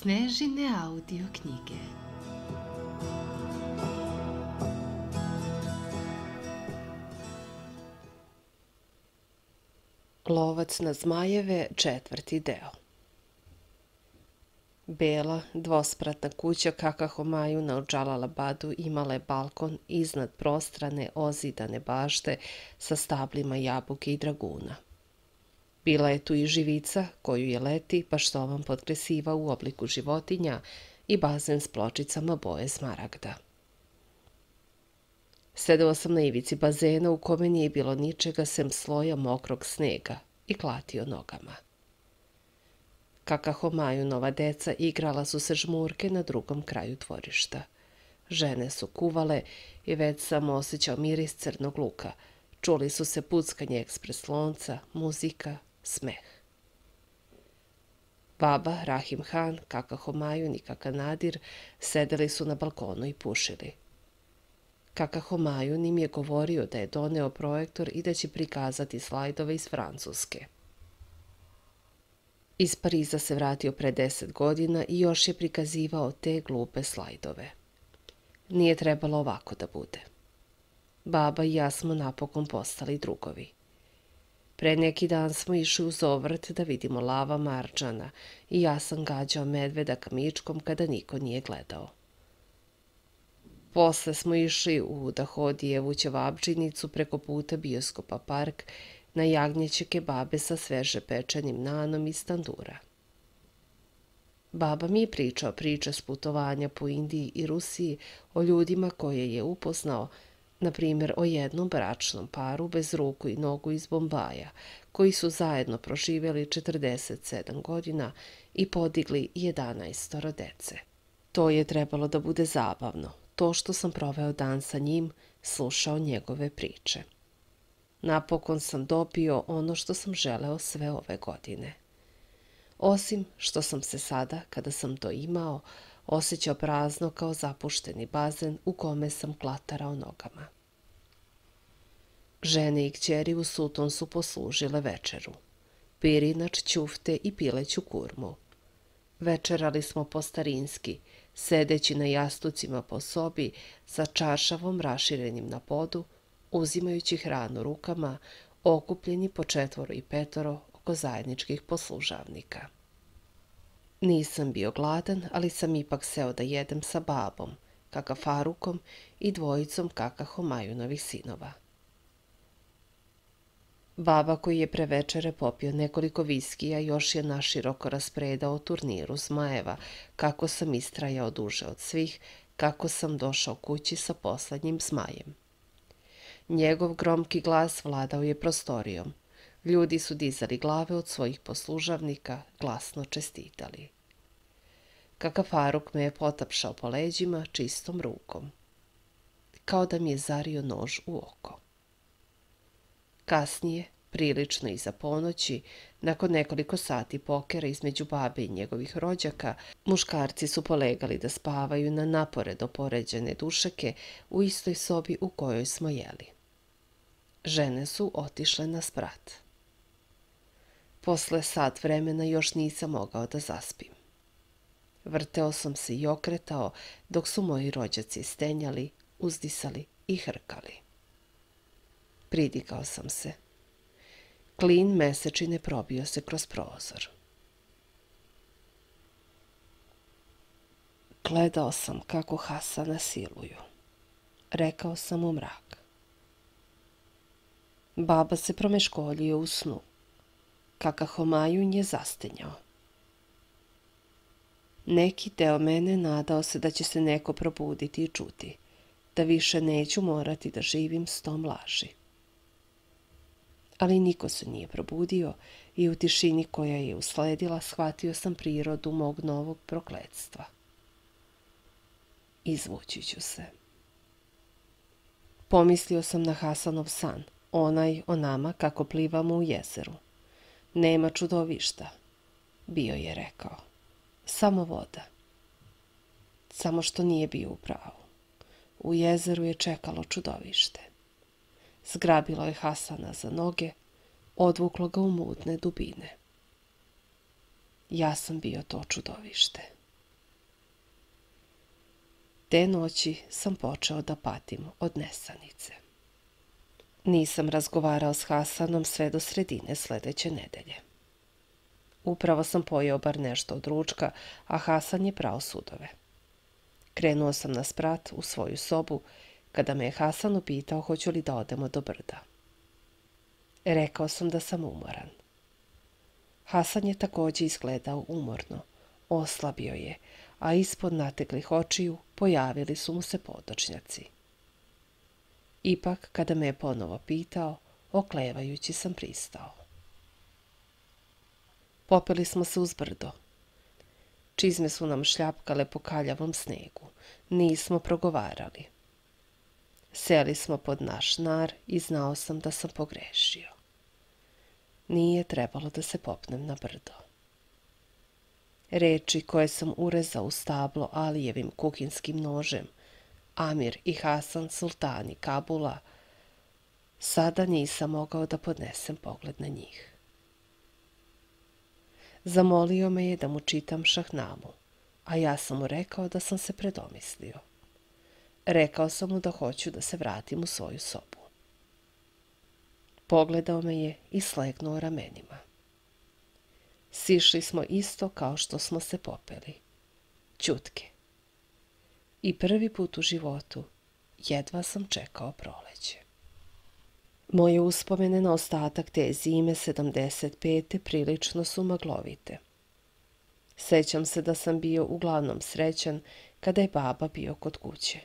Snežine audio knjige. Lovac na zmajeve, 4. deo. Bela, dvospratna kuća Kakahomaju na Džalalabadu imala je balkon iznad prostrane, ozidane bašte sa stablima jabuke i draguna. Bila je tu i živica koju je leti paštovan potresivao u obliku životinja i bazen s pločicama boje smaragda. Sedeo sam na ivici bazena u kome nije bilo ničega sem sloja mokrog snega i klatio nogama. Kakahomajunova deca igrala su se žmurke na drugom kraju dvorišta. Žene su kuvale i već sam osjećao miris crnog luka. Čuli su se puckanje ekspres lonca, muzika, smeh. Baba, Rahim Han, Kakahomajun i Kaka Nadir sedeli su na balkonu i pušili. Kakahomajun im je govorio da je doneo projektor i da će prikazati slajdove iz Francuske. Iz Pariza se vratio pre 10 godina i još je prikazivao te glupe slajdove. Nije trebalo ovako da bude. Baba i ja smo napokon postali drugovi. Pre neki dan smo išli u zovrt da vidimo lava marđana i ja sam gađao medveda kamičkom kada niko nije gledao. Posle smo išli u Dahodijevu ćevabdžinicu preko puta Bioskopa park na jagnjeće kebabe sa sveže pečenim nanom iz tandura. Baba mi je pričao priče s putovanja po Indiji i Rusiji o ljudima koje je upoznao, na primjer o jednom bračnom paru bez ruku i nogu iz Bombaja, koji su zajedno proživjeli 47 godina i podigli 11 dece. To je trebalo da bude zabavno, to što sam proveo dan sa njim, slušao njegove priče. Napokon sam dobio ono što sam želeo sve ove godine. Osim što sam se sada, kada sam to imao, osjećao prazno kao zapušteni bazen u kome sam klatarao nogama. Žene i kćeri u Suton su poslužile večeru. Pirinač, ćufte i pileću kurmu. Večerali smo po starinski, sedeći na jastucima po sobi sa čaršavom raširenim na podu, uzimajući hranu rukama, okupljeni po 4 i 5 oko zajedničkih poslužavnika. Nisam bio gladan, ali sam ipak seo da jedem sa babom, Kaka Farukom i dvojicom Kakahomajunovih sinova. Baba koji je pre večere popio nekoliko viskija još je naširoko raspredao o turniru zmajeva, kako sam istrajao duže od svih, kako sam došao kući sa poslednjim zmajem. Njegov gromki glas vladao je prostorijom. Ljudi su dizali glave od svojih poslužavnika, glasno čestitali. Kaka Faruk me je potapšao po leđima čistom rukom, kao da mi je zario nož u oko. Kasnije, prilično iza ponoći, nakon nekoliko sati pokera između babe i njegovih rođaka, muškarci su polegali da spavaju na naporedo poređene dušeke u istoj sobi u kojoj smo jeli. Žene su otišle na sprat. Posle sat vremena još nisam mogao da zaspim. Vrteo sam se i okretao dok su moji rođaci stenjali, uzdisali i hrkali. Pridikao sam se. Klin mesečine probio se kroz prozor. Gledao sam kako Hasana siluju. Rekao sam u mrak. Baba se promeškoljio u snu. Kakahomajun je zastenjao. Neki deo mene nadao se da će se neko probuditi i čuti, da više neću morati da živim s tom laži. Ali niko se nije probudio i u tišini koja je usledila shvatio sam prirodu mog novog prokletstva. Izvući ću se. Pomislio sam na Hasanov san, onaj o nama kako plivamo u jezeru. Nema čudovišta, bio je rekao. Samo voda. Samo što nije bio u pravu. U jezeru je čekalo čudovište. Zgrabilo je Hasana za noge, odvuklo ga u mutne dubine. Ja sam bio to čudovište. Te noći sam počeo da patim od nesanice. Nisam razgovarao s Hasanom sve do sredine sljedeće nedelje. Upravo sam pojeo bar nešto od ručka, a Hasan je prao sudove. Krenuo sam na sprat u svoju sobu kada me je Hasan upitao hoću li da odemo do brda. Rekao sam da sam umoran. Hasan je također izgledao umorno, oslabio je, a ispod nateglih očiju pojavili su mu se podočnjaci. Ipak, kada me je ponovo pitao, oklevajući sam pristao. Popeli smo se uz brdo. Čizme su nam šljapkale po kaljavom snegu. Nismo progovarali. Seli smo pod naš nar i znao sam da sam pogrešio. Nije trebalo da se popnem na brdo. Reči koje sam urezao u stablo Alijevim kuhinskim nožem, Amir i Hasan sultani Kabula, sada nisam mogao da podnesem pogled na njih. Zamolio me je da mu čitam Šahnamu, a ja sam mu rekao da sam se predomislio. Rekao sam mu da hoću da se vratim u svoju sobu. Pogledao me je i slegnuo ramenima. Sišli smo isto kao što smo se popeli. Ćutke. I prvi put u životu jedva sam čekao proleće. Moje uspomene na ostatak te zime 75. prilično su maglovite. Sećam se da sam bio uglavnom srećan kada je baba bio kod kuće.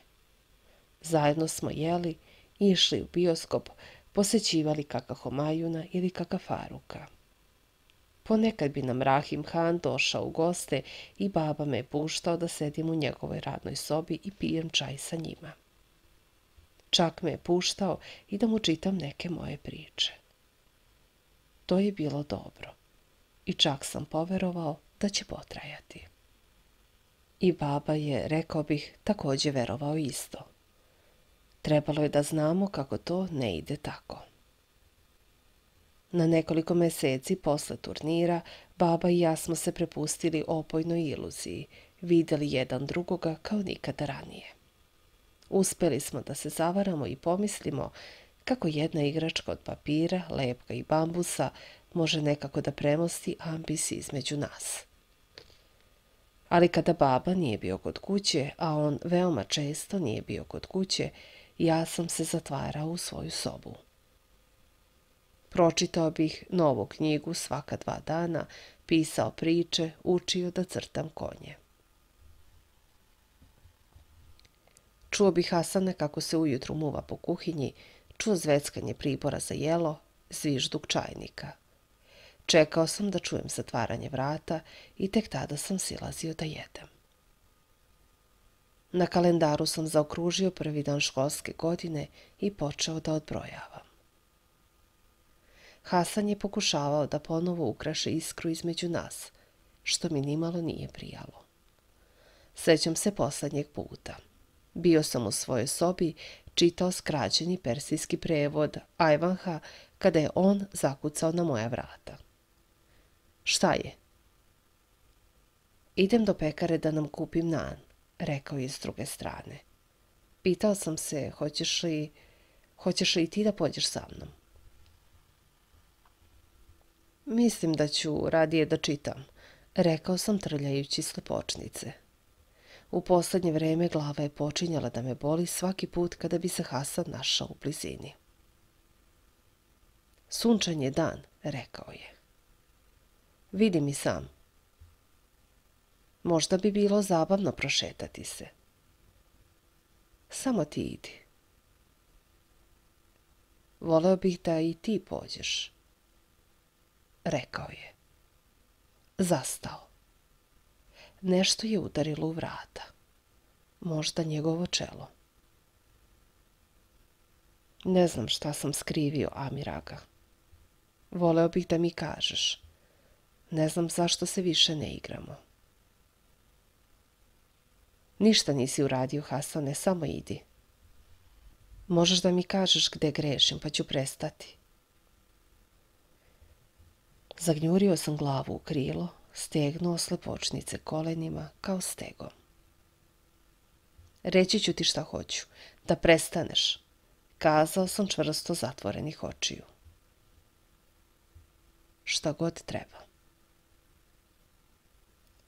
Zajedno smo jeli i išli u bioskop, posećivali kaka Homajuna ili kaka Faruka. Ponekad bi nam Rahim Han došao u goste i baba me je puštao da sedim u njegovoj radnoj sobi i pijem čaj sa njima. Čak me je puštao i da mu čitam neke moje priče. To je bilo dobro i čak sam poverovao da će potrajati. I baba je, rekao bih, također verovao isto. Trebalo je da znamo kako to ne ide tako. Na nekoliko meseci posle turnira, baba i ja smo se prepustili opojnoj iluziji, vidjeli jedan drugoga kao nikada ranije. Uspeli smo da se zavaramo i pomislimo kako jedna igračka od papira, lepka i bambusa može nekako da premosti ambis između nas. Ali kada baba nije bio kod kuće, a on veoma često nije bio kod kuće, ja sam se zatvarao u svoju sobu. Pročitao bih novu knjigu svaka 2 dana, pisao priče, učio da crtam konje. Čuo bih Hasana kako se ujutru muva po kuhinji, čuo zveckanje pribora za jelo, zvižduk čajnika. Čekao sam da čujem zatvaranje vrata i tek tada sam silazio da jedem. Na kalendaru sam zaokružio prvi dan školske godine i počeo da odbrojavam. Hasan je pokušavao da ponovo ukraše iskru između nas, što mi nimalo nije prijalo. Sećam se poslednjeg puta. Bio sam u svojoj sobi, čitao skraćeni persijski prevod Ajvanha kada je on zakucao na moja vrata. Šta je? Idem do pekare da nam kupim nan, rekao je s druge strane. Pitao sam se, hoćeš li ti da pođeš sa mnom? Mislim da ću radije da čitam, rekao sam trljajući slepočnice. U poslednje vreme glava je počinjala da me boli svaki put kada bi se Hasan našao u blizini. Sunčan je dan, rekao je. Vidi mi sam. Možda bi bilo zabavno prošetati se. Samo ti idi. Voleo bih da i ti pođeš, rekao je. Zastao. Nešto je udarilo u vrata. Možda njegovo čelo. Ne znam šta sam skrivio, Amiraga. Voleo bih da mi kažeš. Ne znam zašto se više ne igramo. Ništa nisi uradio, Hasane, samo idi. Možeš da mi kažeš gde grešim, pa ću prestati. Zagnjurio sam glavu u krilo, stegnuo slepočnice kolenima kao stegom. Reći ću ti šta hoću. Da prestaneš, kazao sam čvrsto zatvorenih očiju. Šta god treba.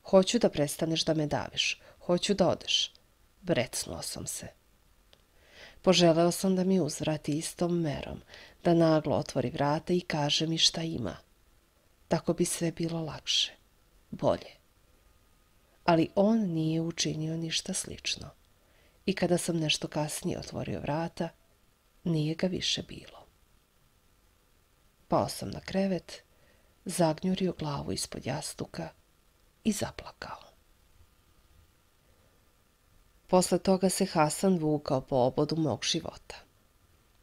Hoću da prestaneš da me daviš. Hoću da odeš. Brecnuo sam se. Poželeo sam da mi uzvrati istom merom, da naglo otvori vrata i kaže mi šta ima. Tako bi sve bilo lakše, bolje. Ali on nije učinio ništa slično. I kada sam nešto kasnije otvorio vrata, nije ga više bilo. Pao sam na krevet, zagnjurio glavu ispod jastuka i zaplakao. Posle toga se Hasan vukao po obodu mog života.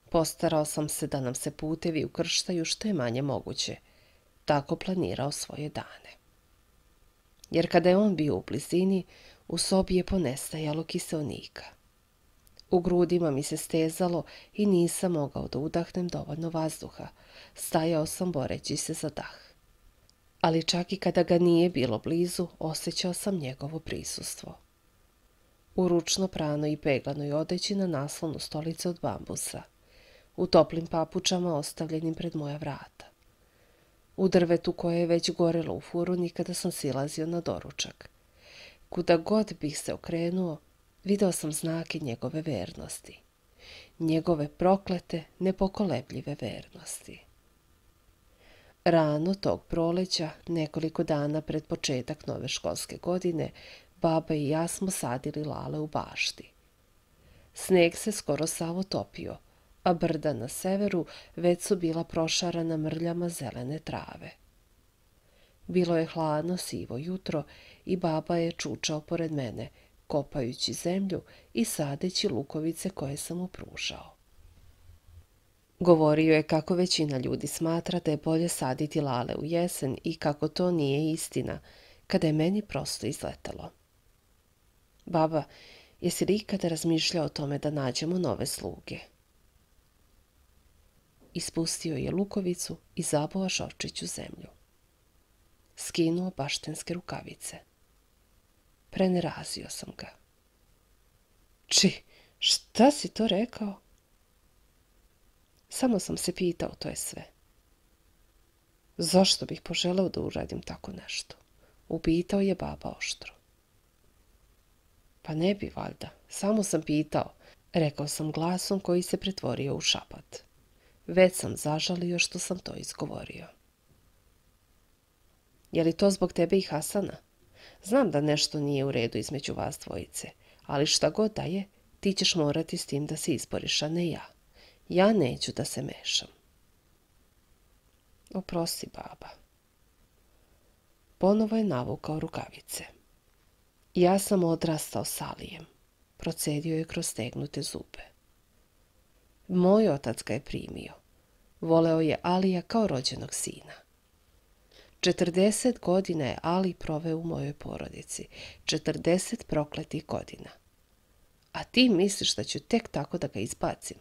Postarao sam se da nam se putevi ukrštaju što je manje moguće, tako planirao svoje dane. Jer kada je on bio u blizini, u sobi je ponestajalo kiseonika. U grudima mi se stezalo i nisam mogao da udahnem dovoljno vazduha. Stajao sam boreći se za dah. Ali čak i kada ga nije bilo blizu, osjećao sam njegovo prisustvo. U ručno pranoj i peglanoj odeći na naslonu stolice od bambusa, u toplim papučama ostavljenim pred moja vrata, u drvetu koje je već gorelo u furuni kada sam silazio na doručak. Kuda god bih se okrenuo, video sam znake njegove vernosti, njegove proklete, nepokolebljive vernosti. Rano tog proleća, nekoliko dana pred početak nove školske godine, baba i ja smo sadili lale u bašti. Sneg se skoro sav otopio, a brda na severu već su bila prošarana mrljama zelene trave. Bilo je hladno sivo jutro i baba je čučao pored mene, kopajući zemlju i sadeći lukovice koje sam mu pružao. Govorio je kako većina ljudi smatra da je bolje saditi lale u jesen i kako to nije istina, kada je meni prosto izletelo. Baba, jesi li ikada razmišljao o tome da nađemo nove sluge? Ispustio je lukovicu i zabova šorčić u zemlju. Skinuo baštenske rukavice. Prenerazio sam ga. Šta si to rekao? Samo sam se pitao, to je sve. Zašto bih poželeo da uradim tako nešto? Upitao je baba oštro. Pa ne bi, valjda. Samo sam pitao, rekao sam glasom koji se pretvorio u šapat. Već sam zažalio što sam to izgovorio. Je li to zbog tebe i Hasana? Znam da nešto nije u redu između vas dvojice, ali šta god da je, ti ćeš morati s tim da se izboriš, a ne ja. Ja neću da se mešam. Oprosti, baba. Ponovo je navukao rukavice. Ja sam odrastao s Alijem, procedio je kroz stegnute zube. Moj otac ga je primio. Voleo je Alija kao rođenog sina. 40 godina je Ali proveo u mojoj porodici. 40 prokletih godina. A ti misliš da ću tek tako da ga izbacim?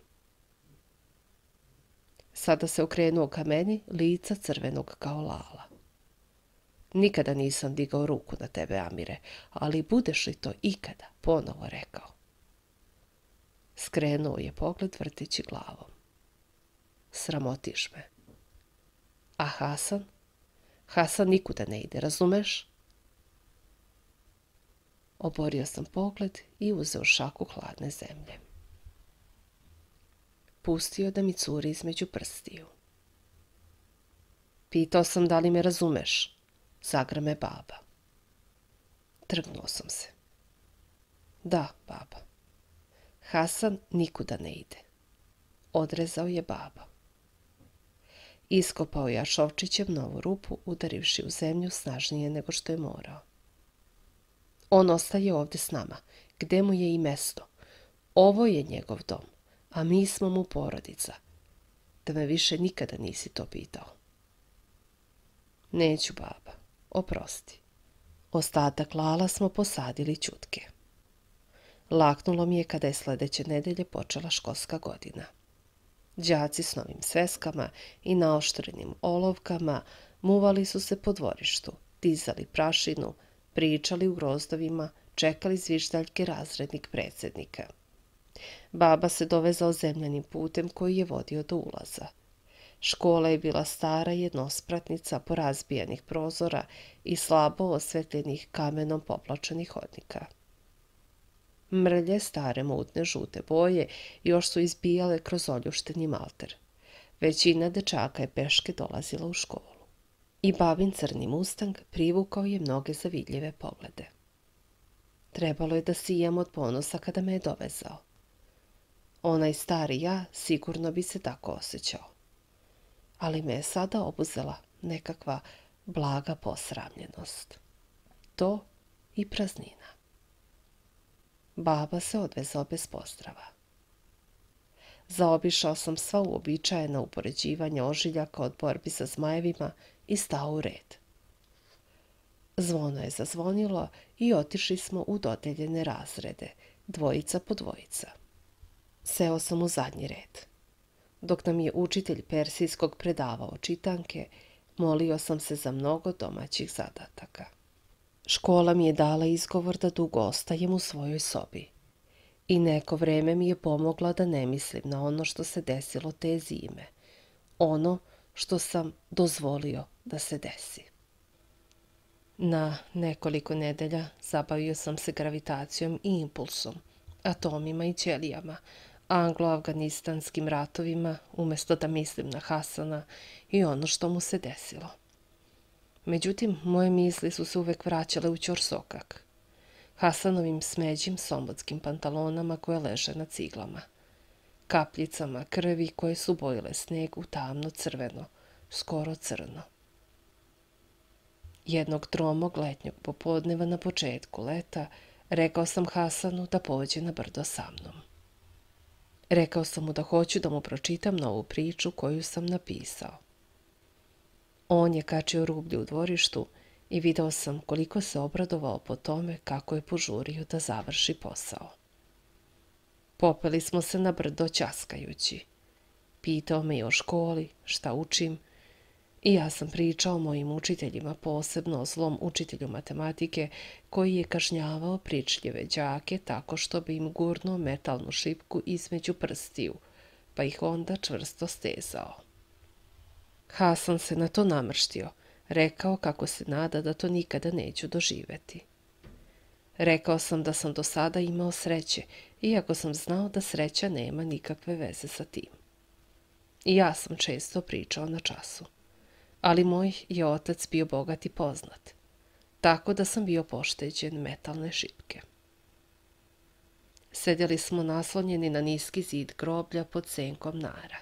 Sada se okrenuo ka meni, lica crvenog kao lala. Nikada nisam digao ruku na tebe, Amire, ali budeš li to ikada ponovo rekao? Skrenuo je pogled vrteći glavom. Sramotiš me. A Hasan? Hasan nikuda ne ide, razumeš? Oborio sam pogled i uzeo šaku hladne zemlje. Pustio da mi curi između prstiju. Pitao sam da li me razumeš, zagrme baba. Trgnuo sam se. Da, baba. Hasan nikuda ne ide. Odrezao je baba. Iskopao je šovčićem novu rupu, udarivši u zemlju snažnije nego što je morao. On ostaje ovdje s nama, gde mu je i mesto. Ovo je njegov dom, a mi smo mu porodica. Da me više nikada nisi to pitao. Neću, baba, oprosti. Ostatak lala smo posadili ćutke. Laknulo mi je kada je sledeće nedelje počela školska godina. Đaci s novim sveskama i naoštrenim olovkama muvali su se po dvorištu, dizali prašinu, pričali u grozdovima, čekali zviždaljke razrednih predsjednika. Baba se dovezao zemljanim putem koji je vodio do ulaza. Škola je bila stara jednospratnica porazbijanih prozora i slabo osvetljenih kamenom poplačenih hodnika. Mrlje stare mutne žute boje još su izbijale kroz oljušteni malter. Većina dečaka je peške dolazila u školu. I babin crni mustang privukao je mnoge zavidljive poglede. Trebalo je da sijam od ponosa kada me je dovezao. Onaj stari ja sigurno bi se tako osjećao. Ali me je sada obuzela nekakva blaga posramljenost. To i praznina. Baba se odvezao bez pozdrava. Zaobišao sam sva uobičajena upoređivanja ožiljaka od borbi sa zmajevima i stao u red. Zvono je zazvonilo i otišli smo u dodeljene razrede, dvojica po dvojica. Seo sam u zadnji red. Dok nam je učitelj persijskog predavao čitanke, molio sam se za mnogo domaćih zadataka. Škola mi je dala izgovor da dugo ostajem u svojoj sobi. I neko vreme mi je pomogla da ne mislim na ono što se desilo te zime. Ono što sam dozvolio da se desi. Na nekoliko nedelja zabavio sam se gravitacijom i impulsom, atomima i ćelijama, anglo-afganistanskim ratovima, umjesto da mislim na Hasana i ono što mu se desilo. Međutim, moje misli su se uvek vraćale u ćorsokak, Hasanovim smeđim sombotskim pantalonama koje leže na ciglama, kapljicama krvi koje su bojile sneg u tamno crveno, skoro crno. Jednog tromog letnjog popodneva na početku leta rekao sam Hasanu da pođe na brdo sa mnom. Rekao sam mu da hoću da mu pročitam novu priču koju sam napisao. On je kačio rublju u dvorištu i video sam koliko se obradovao po tome kako je požurio da završi posao. Popeli smo se na brdo ćaskajući. Pitao me i o školi, šta učim, i ja sam pričao mojim učiteljima, posebno o zlom učitelju matematike koji je kažnjavao pričljive đake tako što bi im gurnuo metalnu šipku između prstiju, pa ih onda čvrsto stezao. Hasan se na to namrštio, rekao kako se nada da to nikada neću doživeti. Rekao sam da sam do sada imao sreće, iako sam znao da sreća nema nikakve veze sa tim. I ja sam često pričao na času. Ali moj je otac bio bogat i poznat, tako da sam bio pošteđen metalne šipke. Sedjeli smo naslonjeni na niski zid groblja pod senkom nara.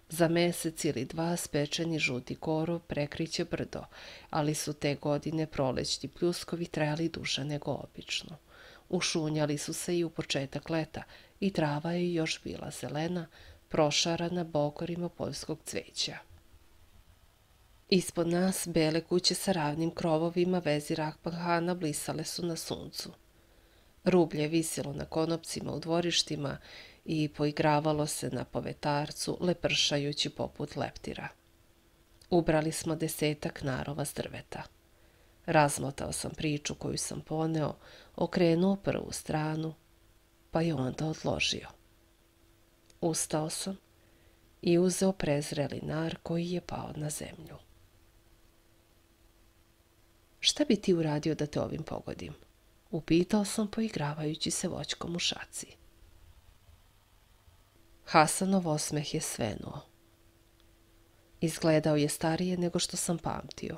Za mesec ili dva spečeni žuti korov prekriće brdo, ali su te godine prolećni pljuskovi trajali duže nego obično. Ušunjali su se i u početak leta i trava je još bila zelena, prošarana bokorima poljskog cveća. Ispod nas bele kuće sa ravnim krovovima vezi Rahpanhana blisale su na suncu. Rublje je visjelo na konopcima u dvorištima i poigravalo se na povetarcu, lepršajući poput leptira. Ubrali smo 10 narova s drveta. Razmotao sam priču koju sam poneo, okrenuo prvu stranu, pa je onda odložio. Ustao sam i uzeo prezreli nar koji je pao na zemlju. Šta bi ti uradio da te ovim pogodim? Upitao sam poigravajući se voćkom u šaci. Hasanov osmeh je svenuo. Izgledao je starije nego što sam pamtio.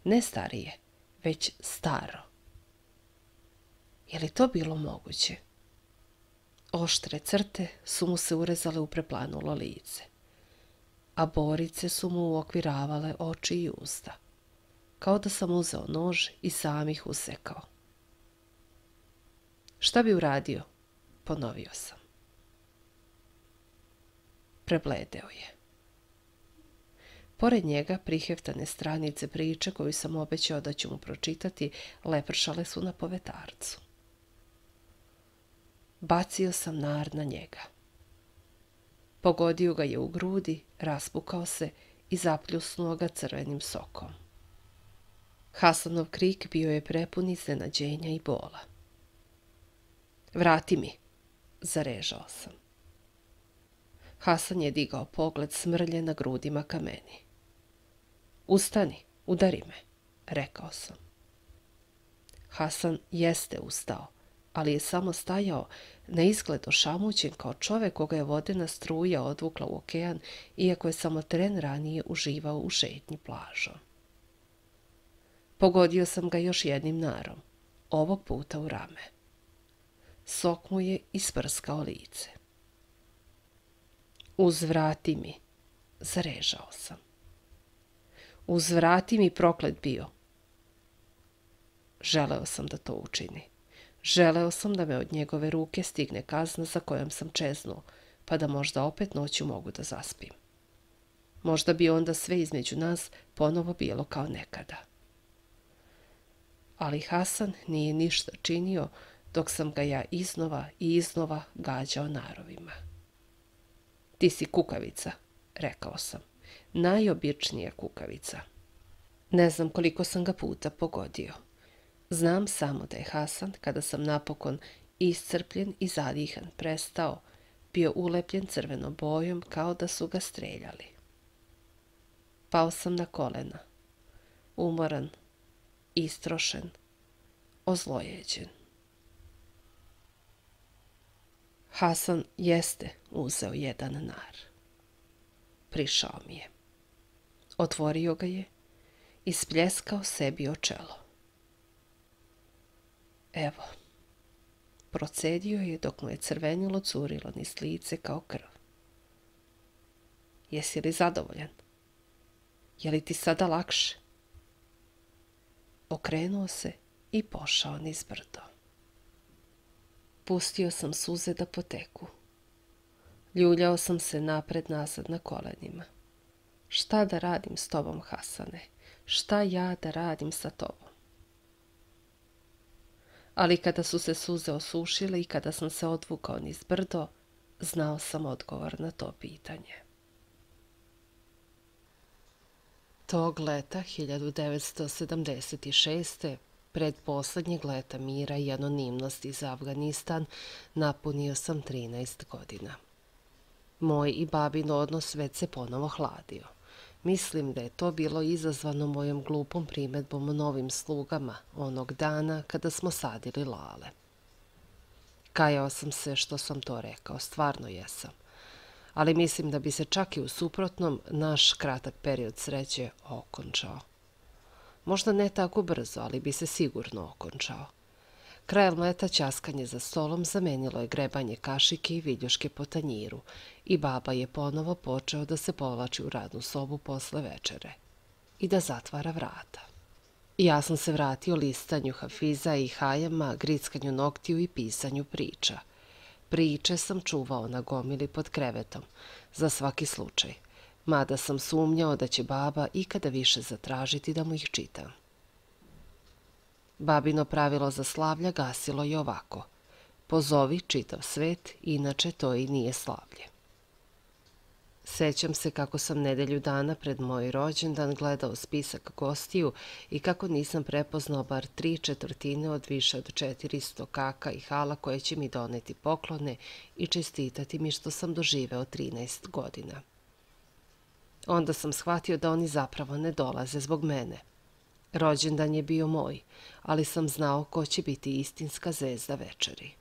Ne starije, već staro. Je li to bilo moguće? Oštre crte su mu se urezale u preplanulo lice, a borice su mu uokviravale oči i usta, kao da sam uzeo nož i sam ih usekao. Šta bi uradio? Ponovio sam. Prebledeo je. Pored njega priheftane stranice priče koju sam obećao da ću mu pročitati lepršale su na povetarcu. Bacio sam nar na njega. Pogodio ga je u grudi, raspukao se i zapljusnuo ga crvenim sokom. Hasanov krik bio je prepun iznenađenja i bola. Vrati mi, zarežao sam. Hasan je digao pogled smrlje na grudima ka meni. Ustani, udari me, rekao sam. Hasan jeste ustao, ali je samo stajao, na izgled ošamućen kao čovek koga je vodena struja odvukla u okean, iako je samo tren ranije uživao u šetnji plažom. Pogodio sam ga još jednim narom, ovog puta u rame. Sok mu je isprskao lice. Uzvrati mi, zarežao sam. Uzvrati mi, proklet bio. Želeo sam da to učini. Želeo sam da me od njegove ruke stigne kazna za kojom sam čeznuo, pa da možda opet noću mogu da zaspim. Možda bi onda sve između nas ponovo bilo kao nekada. Ali Hasan nije ništa činio dok sam ga ja iznova i iznova gađao narovima. Ti si kukavica, rekao sam. Najobičnija kukavica. Ne znam koliko sam ga puta pogodio. Znam samo da je Hasan, kada sam napokon iscrpljen i zadihan prestao, bio ulepljen crvenom bojom kao da su ga streljali. Pao sam na kolena, umoran, istrošen, ozlojeđen. Hasan jeste uzeo jedan nar. Prišao mi je. Otvorio ga je i spljeskao sebi o čelo. Evo, procedio je dok mu je crvenilo curilo niz lice kao krv. Jesi li zadovoljan? Je li ti sada lakše? Okrenuo se i pošao niz brdo. Pustio sam suze da poteku. Ljuljao sam se napred-nazad na kolenima. Šta da radim s tobom, Hasane? Šta ja da radim sa tobom? Ali kada su se suze osušile i kada sam se odvukao niz brdo, znao sam odgovor na to pitanje. Tog leta 1976. pred poslednjeg leta mira i anonimnosti za Afganistan, napunio sam 13 godina. Moj i babin odnos već se ponovo hladio. Mislim da je to bilo izazvano mojom glupom primedbom o novim slugama onog dana kada smo sadili lale. Kajao sam se što sam to rekao, stvarno jesam. Ali mislim da bi se čak i u suprotnom naš kratak period sreće okončao. Možda ne tako brzo, ali bi se sigurno okončao. Krajem leta ćaskanje za stolom zamenilo je grebanje kašike i viljuške po tanjiru i baba je ponovo počeo da se povlači u radnu sobu posle večere i da zatvara vrata. Ja sam se vratio listanju Hafiza i Hajama, grickanju noktiju i pisanju priča. Priče sam čuvao na gomili pod krevetom, za svaki slučaj, mada sam sumnjao da će baba ikada više zatražiti da mu ih čitam. Babino pravilo za slavlja gasilo je ovako: pozovi čitav svet, inače to i nije slavlje. Sećam se kako sam nedelju dana pred moj rođendan gledao spisak gostiju i kako nisam prepoznao bar 3/4 od više od 400 kaka i hala koje će mi doneti poklone i čestitati mi što sam doživeo 13 godina. Onda sam shvatio da oni zapravo ne dolaze zbog mene. Rođendan je bio moj, ali sam znao ko će biti istinska zvezda večeri.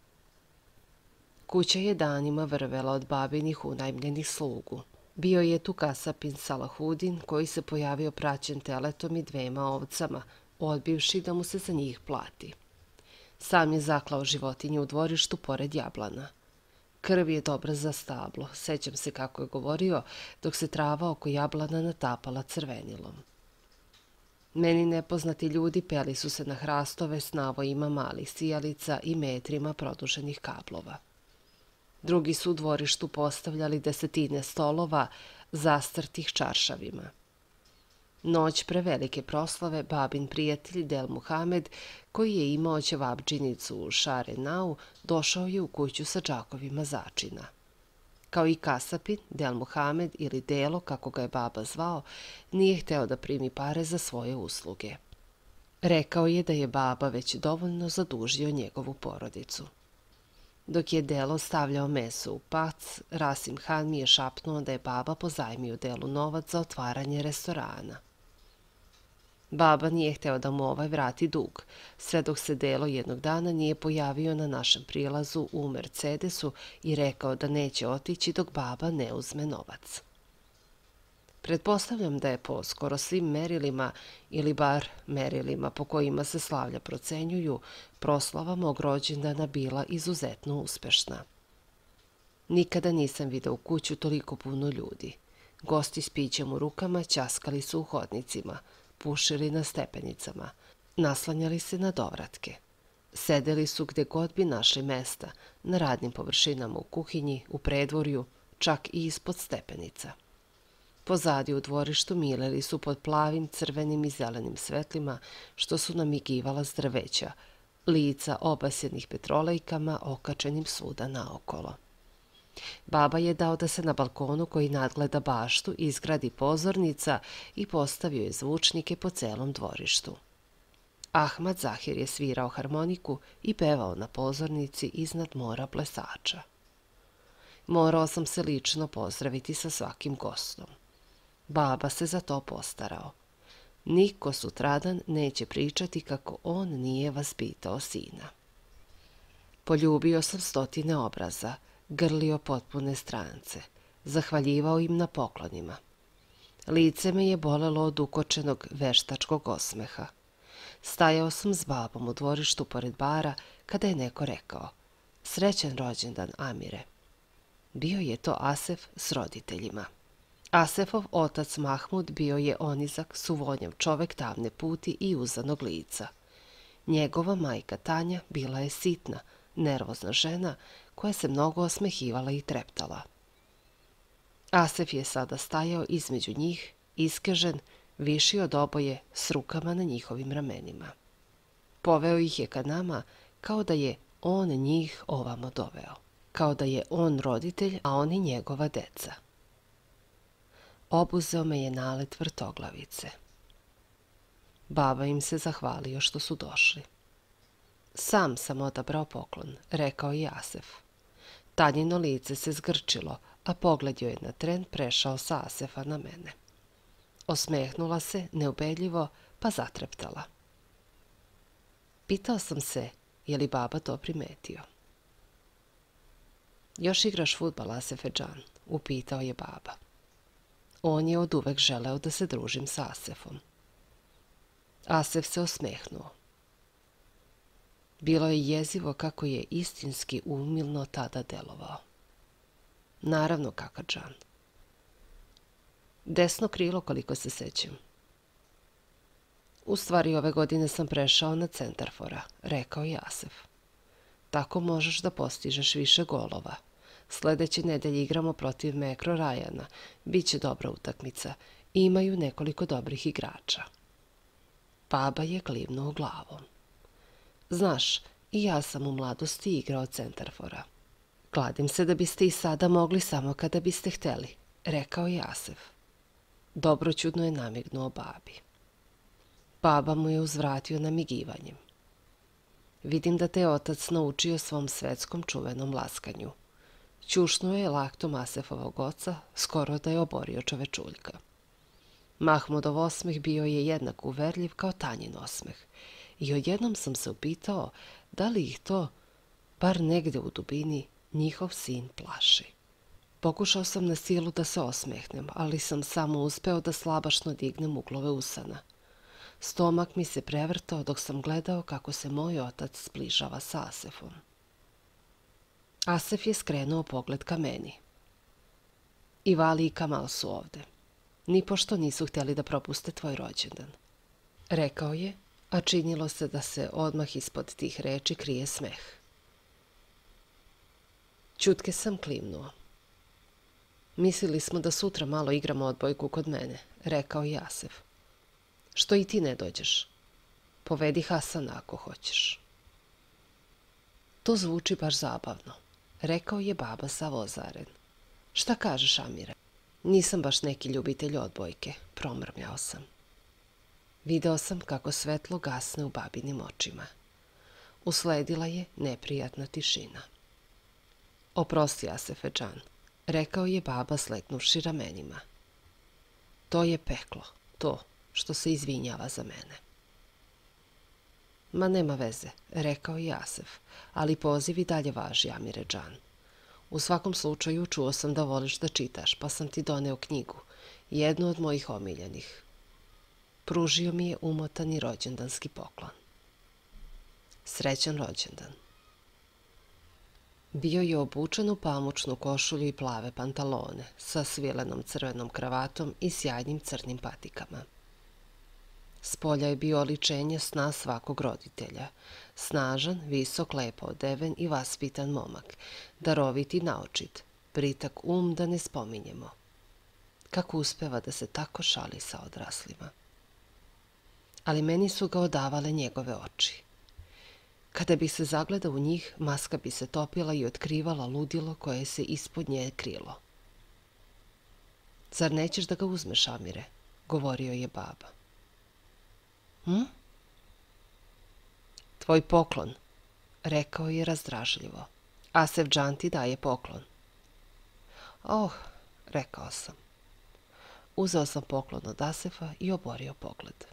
Kuća je danima vrvela od babinih unajmljenih slugu. Bio je tu kasapin Salahudin koji se pojavio praćen teletom i 2 ovcama, odbivši da mu se za njih plati. Sam je zaklao životinje u dvorištu pored jablana. Krv je dobra za stablo, sećam se kako je govorio, dok se trava oko jablana natapala crvenilom. Meni nepoznati ljudi peli su se na hrastove s navojima malih sijalica i metrima produženih kablova. Drugi su u dvorištu postavljali 10 stolova zastrtih čaršavima. Noć pre velike proslave babin prijatelj Del Muhamed, koji je imao ćevabdžinicu u Šarenau, došao je u kuću sa džakovima začina. Kao i kasapin, Del Muhamed ili Delo, kako ga je baba zvao, nije hteo da primi pare za svoje usluge. Rekao je da je baba već dovoljno zadužio njegovu porodicu. Dok je Delo stavljao meso u pac, Rasim Han mi je šapnuo da je baba pozajmio Delu novac za otvaranje restorana. Baba nije hteo da mu ovaj vrati dug, sve dok se Delo jednog dana nije pojavio na našem prilazu u Mercedesu i rekao da neće otići dok baba ne uzme novac. Pretpostavljam da je po skoro svim merilima, ili bar merilima po kojima se slavlja procenjuju, proslava mog rođendana bila izuzetno uspešna. Nikada nisam video u kuću toliko puno ljudi. Gosti s pićem u rukama ćaskali su u hodnicima, pušili na stepenicama, naslanjali se na dovratke. Sedeli su gde god bi našli mesta, na radnim površinama u kuhinji, u predvorju, čak i ispod stepenica. Pozadi u dvorištu mileli su pod plavim, crvenim i zelenim svetlima, što su namigivala s drveća, lica obasjenih petrolejkama okačenim svuda naokolo. Baba je dao da se na balkonu koji nadgleda baštu izgradi pozornica i postavio je zvučnike po celom dvorištu. Ahmad Zahir je svirao harmoniku i pevao na pozornici iznad mora plesača. Morao sam se lično pozdraviti sa svakim gostom. Baba se za to postarao. Niko sutradan neće pričati kako on nije vaspitao sina. Poljubio sam stotine obraza, grlio potpune strance, zahvaljivao im na poklonima. Lice me je bolelo od ukočenog veštačkog osmeha. Stajao sam s babom u dvorištu pored bara kada je neko rekao: "Srećan rođendan, Amire." Bio je to Asef s roditeljima. Asefov otac Mahmud bio je onizak, suvonjav čovek tamne puti i uzanog lica. Njegova majka Tanja bila je sitna, nervozna žena koja se mnogo osmehivala i treptala. Asef je sada stajao između njih, iskežen, viši od oboje, s rukama na njihovim ramenima. Poveo ih je ka nama kao da je on njih ovamo doveo, kao da je on roditelj, a oni njegova deca. Obuzeo me je nalet vrtoglavice. Baba im se zahvalio što su došli. Sam sam odabrao poklon, rekao je Asef. Tanjino lice se zgrčilo, a pogled joj je na tren prešao sa Asefa na mene. Osmehnula se, neubedljivo, pa zatreptala. Pitao sam se, je li baba to primetio. Još igraš fudbal, Asefedžan, upitao je baba. On je oduvek želeo da se družim sa Asefom. Asef se osmehnuo. Bilo je jezivo kako je istinski umilno tada delovao. Naravno, Kakadžan. Desno krilo, koliko se sećam. U stvari, ove godine sam prešao na centarfora, rekao je Asef. Tako možeš da postižeš više golova. Sledeće nedelje igramo protiv Mekro Rajana. Biće dobra utakmica. Imaju nekoliko dobrih igrača. Baba je klivnuo glavom. Znaš, i ja sam u mladosti igrao centarfora. Kladim se da biste i sada mogli samo kada biste hteli, rekao je Asef. Dobroćudno je namignuo babi. Baba mu je uzvratio namigivanjem. Vidim da te je otac naučio svom svetskom čuvenom laskanju. Ćušnuo je laktom Asefovog oca, skoro da je oborio čovečuljka. Mahmudov osmeh bio je jednak uverljiv kao Tanjin osmeh i odjednom sam se upitao da li ih to, bar negde u dubini, njihov sin plaši. Pokušao sam na silu da se osmehnem, ali sam samo uspeo da slabašno dignem uglove usana. Stomak mi se prevrtao dok sam gledao kako se moj otac zbližava sa Asefom. Asef je skrenuo pogled ka meni. I Vali i Kamal su ovde. Nipošto nisu htjeli da propuste tvoj rođendan. Rekao je, a činilo se da se odmah ispod tih reči krije smeh. Ćutke sam klimnuo. Mislili smo da sutra malo igramo odbojku kod mene, rekao je Asef. Što i ti ne dođeš? Povedi Hasana ako hoćeš. To zvuči baš zabavno, rekao je baba sav ozaren. Šta kažeš, Amire? Nisam baš neki ljubitelj odbojke, promrmljao sam. Video sam kako svetlo gasne u babinim očima. Usledila je neprijatna tišina. Oprosti, Asefedžan, rekao je baba slegnuvši ramenima. To je peklo, to što se izvinjava za mene. Ma nema veze, rekao je Asef, ali poziv i dalje važi, Amiredžan. U svakom slučaju čuo sam da voliš da čitaš, pa sam ti doneo knjigu, jednu od mojih omiljenih. Pružio mi je umotani rođendanski poklon. Srećan rođendan. Bio je obučen u pamučnu košulju i plave pantalone, sa svilenom crvenom kravatom i sjajnim crnim patikama. Spolja je bio oličenje sna svakog roditelja. Snažan, visok, lepo odeven i vaspitan momak, darovit i naočit, britak da ne spominjemo. Kako uspeva da se tako šali sa odraslima. Ali meni su ga odavale njegove oči. Kada bi se zagledao u njih, maska bi se topila i otkrivala ludilo koje se ispod nje krilo. Zar nećeš da ga uzmeš, Amire? Govorio je baba. Tvoj poklon, rekao je razdražljivo. Asefdžan ti daje poklon. Oh, rekao sam. Uzeo sam poklon od Asefa i oborio pogled.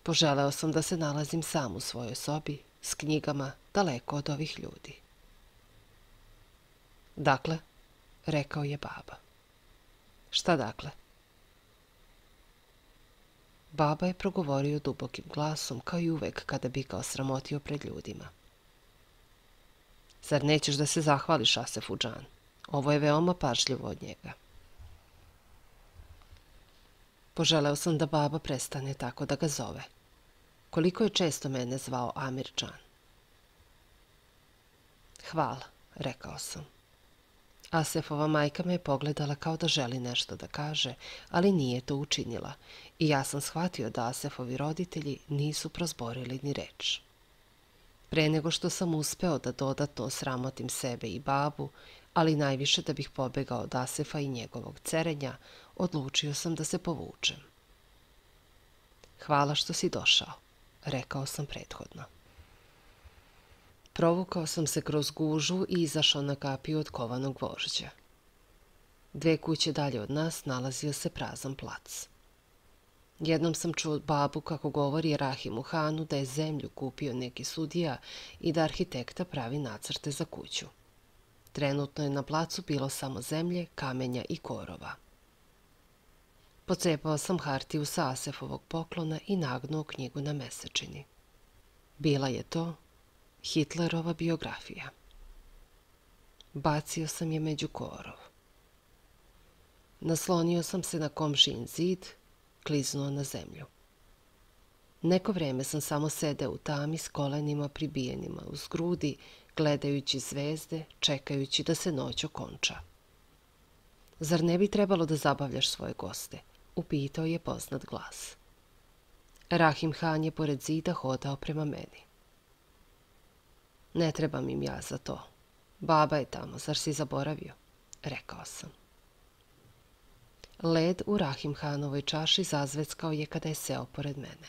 Poželeo sam da se nalazim sam u svojoj sobi, s knjigama, daleko od ovih ljudi. Dakle, rekao je baba. Šta dakle? Baba je progovorio dubokim glasom, kao i uvek kada bi ga osramotio pred ljudima. Zar nećeš da se zahvališ Asefudžan? Ovo je veoma pažljivo od njega. Poželeo sam da baba prestane tako da ga zove. Koliko je često mene zvao Amirdžan. Hvala, rekao sam. Asefova majka me je pogledala kao da želi nešto da kaže, ali nije to učinila i ja sam shvatio da Asefovi roditelji nisu prozborili ni reč. Pre nego što sam uspeo da dodatno osramotim sebe i babu, ali najviše da bih pobegao od Asefa i njegovog cerenja, odlučio sam da se povučem. Hvala što si došao, rekao sam prethodno. Provukao sam se kroz gužu i izašao na kapiju od kovanog gvožđa. 2 kuće dalje od nas nalazio se prazan plac. Jednom sam čuo babu kako govori Rahimu Hanu da je zemlju kupio neki sudija i da arhitekta pravi nacrte za kuću. Trenutno je na placu bilo samo zemlje, kamenja i korova. Pocepao sam hartiju sa Asefovog poklona i nagnuo knjigu na mesečini. Bila je to Hitlerova biografija. Bacio sam je među korov. Naslonio sam se na komšijin zid, kliznuo na zemlju. Neko vreme sam samo sedeo u tami s kolenima pribijenima uz grudi, gledajući zvezde, čekajući da se noć okonča. Zar ne bi trebalo da zabavljaš svoje goste? Upitao je poznat glas. Rahim Han je pored zida hodao prema meni. Ne trebam im ja za to. Baba je tamo, zar si zaboravio? Rekao sam. Led u Rahim Hanovoj čaši zazveckao je kada je seo pored mene.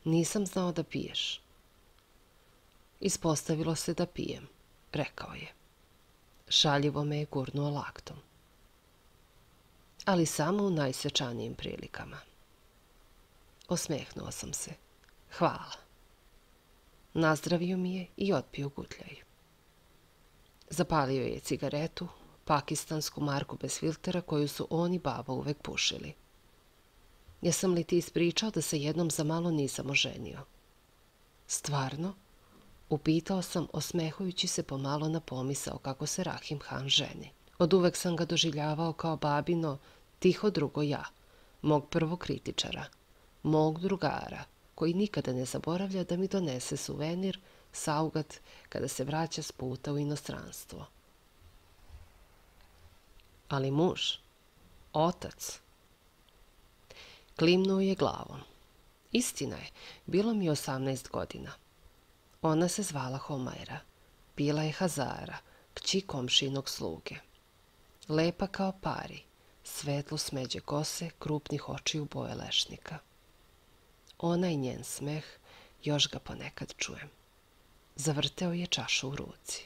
Nisam znao da piješ. Ispostavilo se da pijem, rekao je. Šaljivo me je gurnuo laktom. Ali samo u najsvečanijim prilikama. Osmehnuo sam se. Hvala. Nazdravio mi je i otpio gutljaj. Zapalio je cigaretu, pakistansku marku bez filtera koju su on i baba uvek pušili. Jesam li ti ispričao da se jednom za malo nisam oženio? Stvarno? Upitao sam, osmehujući se pomalo na pomisao kako se Rahim Han ženi. Od uvek sam ga doživljavao kao babino, tiho drugo ja, mog prvog kritičara, mog drugara, koji nikada ne zaboravlja da mi donese suvenir, saugat, kada se vraća s puta u inostranstvo. Ali muž, otac. Klimnuo je glavom. Istina je, bilo mi 18 godina. Ona se zvala Homajra, bila je Hazara, kći komšinog sluge. Lepa kao pari, svetlo smeđe kose, krupnih očiju boje lešnika. Ona i njen smeh, još ga ponekad čujem. Zavrteo je čašu u ruci.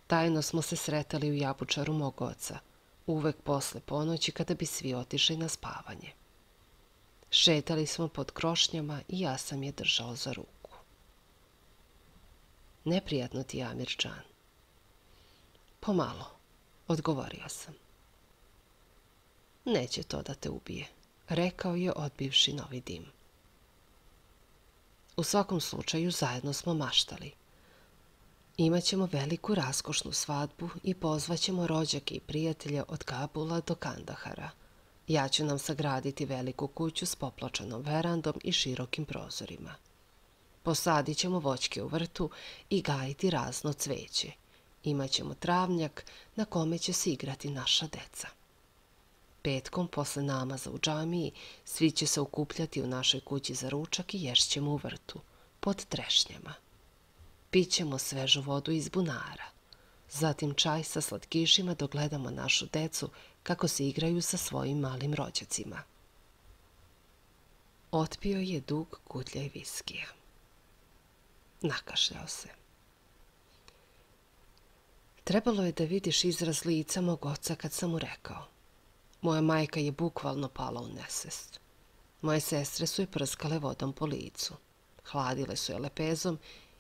Tajno smo se sretali u jabučaru mog oca, uvek posle ponoći kada bi svi otišli na spavanje. Šetali smo pod krošnjama i ja sam je držao za ruku. Neprijatno ti je, Amirđan? Pomalo, odgovorio sam. Neće to da te ubije, rekao je odbivši novi dim. U svakom slučaju zajedno smo maštali. Imaćemo veliku raskošnu svadbu i pozvaćemo rođake i prijatelje od Kabula do Kandahara. Ja ću nam sagraditi veliku kuću s popločanom verandom i širokim prozorima. Posadit ćemo voćke u vrtu i gajiti razno cveće. Imaćemo travnjak na kome će se igrati naša deca. Petkom, posle namaza u džamiji, svi će se okupljati u našoj kući za ručak i ješćemo u vrtu, pod trešnjama. Pićemo svežu vodu iz bunara, zatim čaj sa slatkišima dok gledamo našu decu kako se igraju sa svojim malim rođacima. Otpio je dug kutljaj viskija. Nakašljao se. Trebalo je da vidiš izraz lica mog oca kad sam mu rekao. Moja majka je bukvalno pala u nesvest. Moje sestre su je prskale vodom po licu. Hladile su je lepezom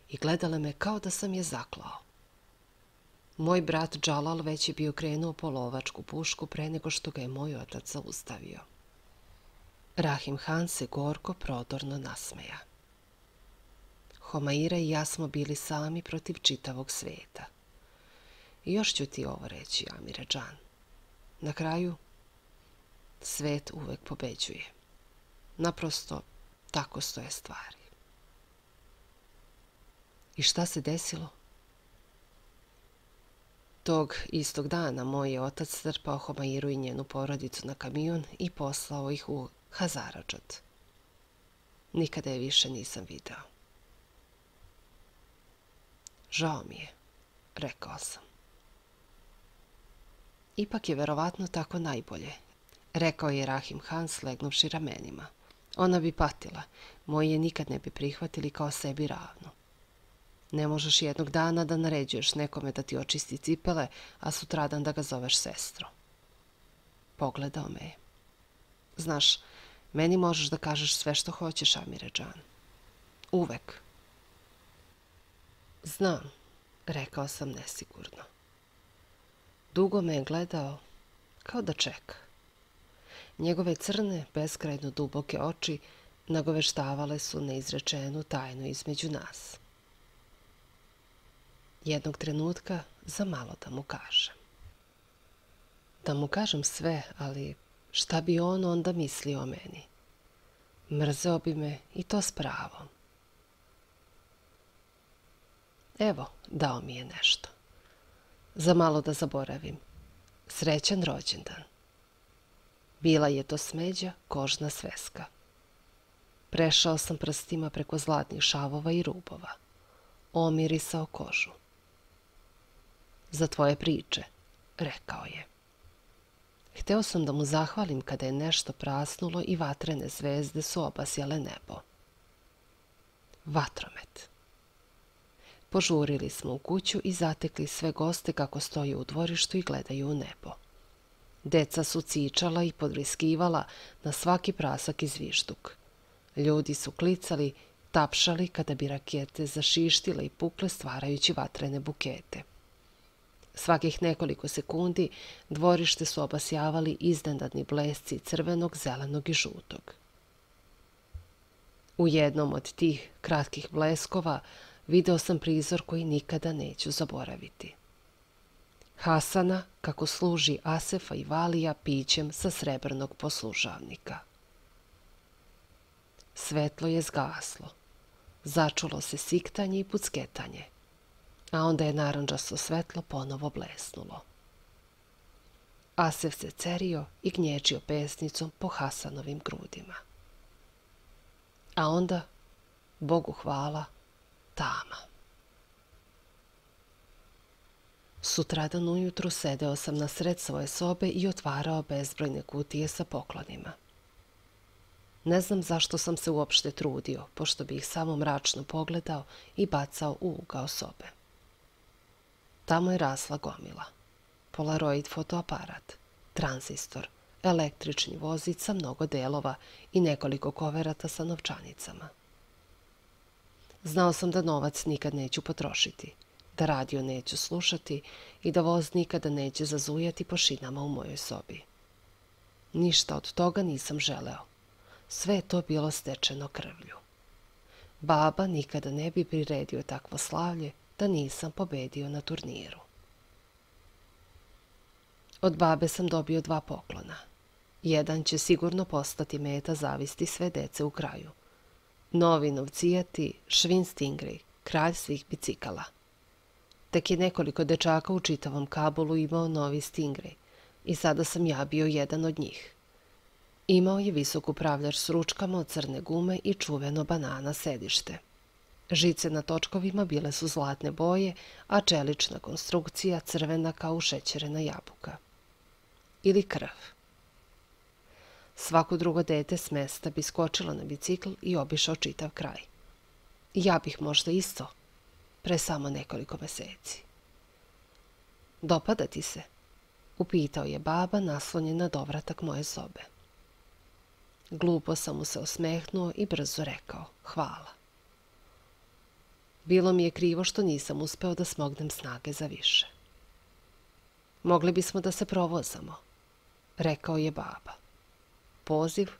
i gledale me kao da sam je zaklao. Moj brat Džalal već je bio krenuo po lovačku pušku pre nego što ga je moj otac zaustavio. Rahim Han se gorko prodorno nasmeja. Homaira i ja smo bili sami protiv čitavog sveta. I još ću ti ovo reći, Amire Džan. Na kraju, svet uvek pobeđuje. Naprosto, tako stoje stvari. I šta se desilo? Tog istog dana moj je otac strpao Homairu i njenu porodicu na kamion i poslao ih u Hazaradžat. Nikada je više nisam video. Žao mi je, rekao sam. Ipak je verovatno tako najbolje, rekao je Rahim Han slegnuvši ramenima. Ona bi patila, moji je nikad ne bi prihvatili kao sebi ravnu. Ne možeš jednog dana da naređuješ nekome da ti očisti cipele, a sutradan da ga zoveš sestro. Pogledao me je. Znaš, meni možeš da kažeš sve što hoćeš, Amire Džan. Uvek. Znam, rekao sam nesigurno. Dugo me je gledao, kao da čeka. Njegove crne, beskrajno duboke oči nagoveštavale su neizrečenu tajnu između nas. Jednog trenutka za malo da mu kažem. Da mu kažem sve, ali šta bi on onda mislio o meni? Mrzeo bi me i to s pravom. Evo, dao mi je nešto. Za malo da zaboravim. Srećan rođendan. Bila je to smeđa, kožna sveska. Prešao sam prstima preko zlatnih šavova i rubova. Omirisao kožu. Za tvoje priče, rekao je. Hteo sam da mu zahvalim kada je nešto prasnulo i vatrene zvezde su obasjale nebo. Vatromet. Požurili smo u kuću i zatekli sve goste kako stoje u dvorištu i gledaju u nebo. Deca su cičala i podvriskivala na svaki prasak i zvižduk. Ljudi su klicali, tapšali kada bi rakete zašištile i pukle stvarajući vatrene bukete. Svakih nekoliko sekundi dvorište su obasjavali iznenadni blesci crvenog, zelenog i žutog. U jednom od tih kratkih bleskova video sam prizor koji nikada neću zaboraviti. Hasana kako služi Asefa i Valija pićem sa srebrnog poslužavnika. Svetlo je zgaslo. Začulo se siktanje i pucketanje, a onda je narandžasto svetlo ponovo blesnulo. Asef se cerio i gnječio pesnicom po Hasanovim grudima. A onda, Bogu hvala, tama. Sutradan ujutru sedeo sam na sred svoje sobe i otvarao bezbrojne kutije sa poklonima. Ne znam zašto sam se uopšte trudio, pošto bi ih samo mračno pogledao i bacao u ugao sobe. Tamo je rasla gomila. Polaroid fotoaparat, tranzistor, električni vozić sa mnogo delova i nekoliko koverata sa novčanicama. Znao sam da novac nikad neću potrošiti, da radio neću slušati i da voz nikada neće zazujati po šinama u mojoj sobi. Ništa od toga nisam želeo. Sve je to bilo stečeno krvlju. Baba nikada ne bi priredio takvo slavlje da nisam pobedio na turniru. Od babe sam dobio 2 poklona. Jedan će sigurno postati meta zavisti sve dece u kraju. Novi novcijati Schwinn Stingray, kralj svih bicikala. Tek je nekoliko dečaka u čitavom Kabulu imao novi Stingray i sada sam ja bio jedan od njih. Imao je visok upravljač s ručkama od crne gume i čuveno banana sedište. Žice na točkovima bile su zlatne boje, a čelična konstrukcija crvena kao ušećerena jabuka. Ili krv. Svako drugo dete s mesta bi skočilo na bicikl i obišao čitav kraj. Ja bih možda isto, pre samo nekoliko meseci. Dopada ti se? Upitao je baba naslonjen na dovratak moje sobe. Glupo sam mu se osmehnuo i brzo rekao, hvala. Bilo mi je krivo što nisam uspeo da smognem snage za više. Mogli bismo da se provozamo, rekao je baba. Poziv,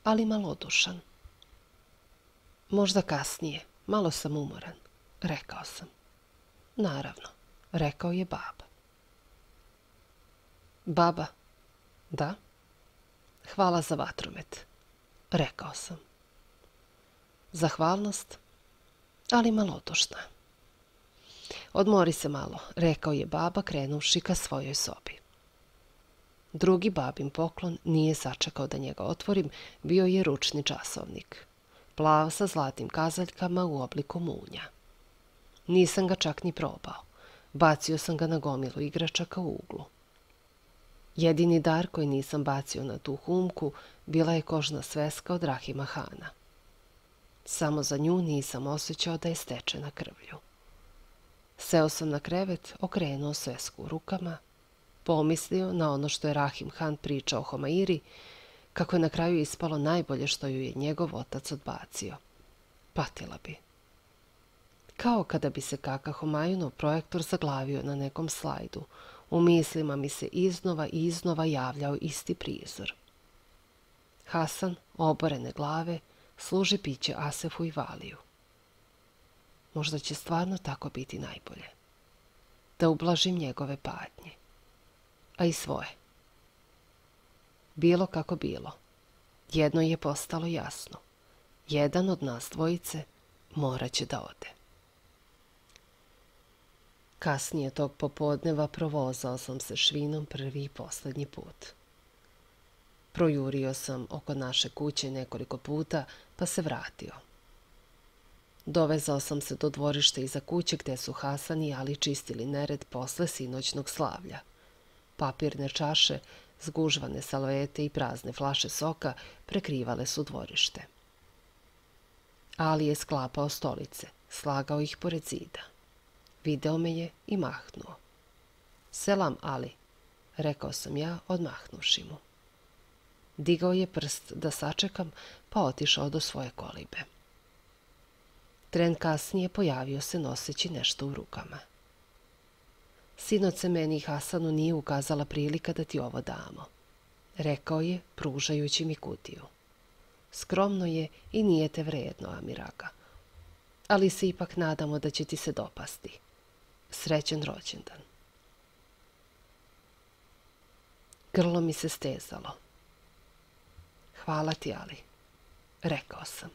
ali malodušan. Možda kasnije, malo sam umoran, rekao sam. Naravno, rekao je baba. Baba, da? Hvala za vatromet, rekao sam. Zahvalnost, ali malodušna. Odmori se malo, rekao je baba krenuvši ka svojoj sobi. Drugi babin poklon nije sačekao da njega otvorim, bio je ručni časovnik. Plav sa zlatnim kazaljkama u obliku munja. Nisam ga čak ni probao. Bacio sam ga na gomilu igračaka u uglu. Jedini dar koji nisam bacio na tu humku bila je kožna sveska od Rahima Hana. Samo za nju nisam osjećao da je stečena krvlju. Seo sam na krevet, okrenuo svesku u rukama, pomislio na ono što je Rahim Han pričao o Homairi, kako je na kraju ispalo najbolje što ju je njegov otac odbacio. Patila bi. Kao kada bi se kaka Homajunov projektor zaglavio na nekom slajdu, u mislima mi se iznova i iznova javljao isti prizor. Hasan, oborene glave, služi piće Asefu i Valiju. Možda će stvarno tako biti najbolje. Da ublažim njegove patnje. A i svoje. Bilo kako bilo. Jedno je postalo jasno. Jedan od nas dvojice morat će da ode. Kasnije tog popodneva provozao sam se Švinom prvi i poslednji put. Projurio sam oko naše kuće nekoliko puta, pa se vratio. Dovezao sam se do dvorišta iza kuće gde su Hasan i Ali čistili nered posle sinoćnog slavlja. Papirne čaše, zgužvane salvete i prazne flaše soka prekrivale su dvorište. Ali je sklapao stolice, slagao ih pored zida. Video me je i mahnuo. Selam, Ali, rekao sam ja, odmahnuši mu. Digao je prst da sačekam, pa otišao do svoje kolibe. Tren kasnije pojavio se noseći nešto u rukama. Sinoć se meni i Hasanu nije ukazala prilika da ti ovo damo, rekao je, pružajući mi kutiju. Skromno je i nije te vredno, Amiraga, ali se ipak nadamo da će ti se dopasti. Srećan rođendan. Grlo mi se stezalo. Hvala ti, Ali, rekao sam.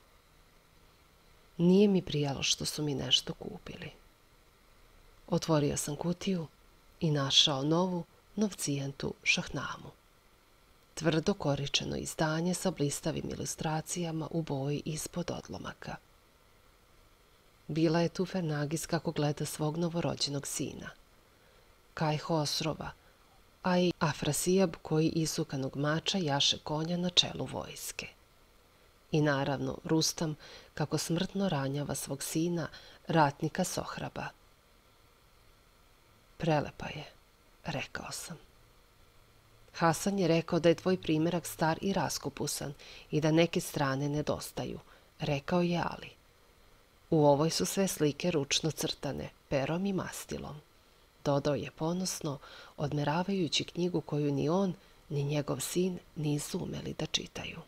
Nije mi prijalo što su mi nešto kupili. Otvorio sam kutiju i našao novu novcijentu šahnamu. Tvrdo koričeno izdanje sa blistavim ilustracijama u boji ispod odlomaka. Bila je tu Fernagis kako gleda svog novorođenog sina. Kaj Hosrova, a i Afrasijab koji isukanog mača jaše konja na čelu vojske. I naravno Rustam kako smrtno ranjava svog sina, ratnika Sohraba. Prelepa je, rekao sam. Hasan je rekao da je tvoj primjerak star i raskupusan i da neke strane nedostaju, rekao je Ali. U ovoj su sve slike ručno crtane, perom i mastilom. Dodao je ponosno, odmeravajući knjigu koju ni on, ni njegov sin nisu umeli da čitaju.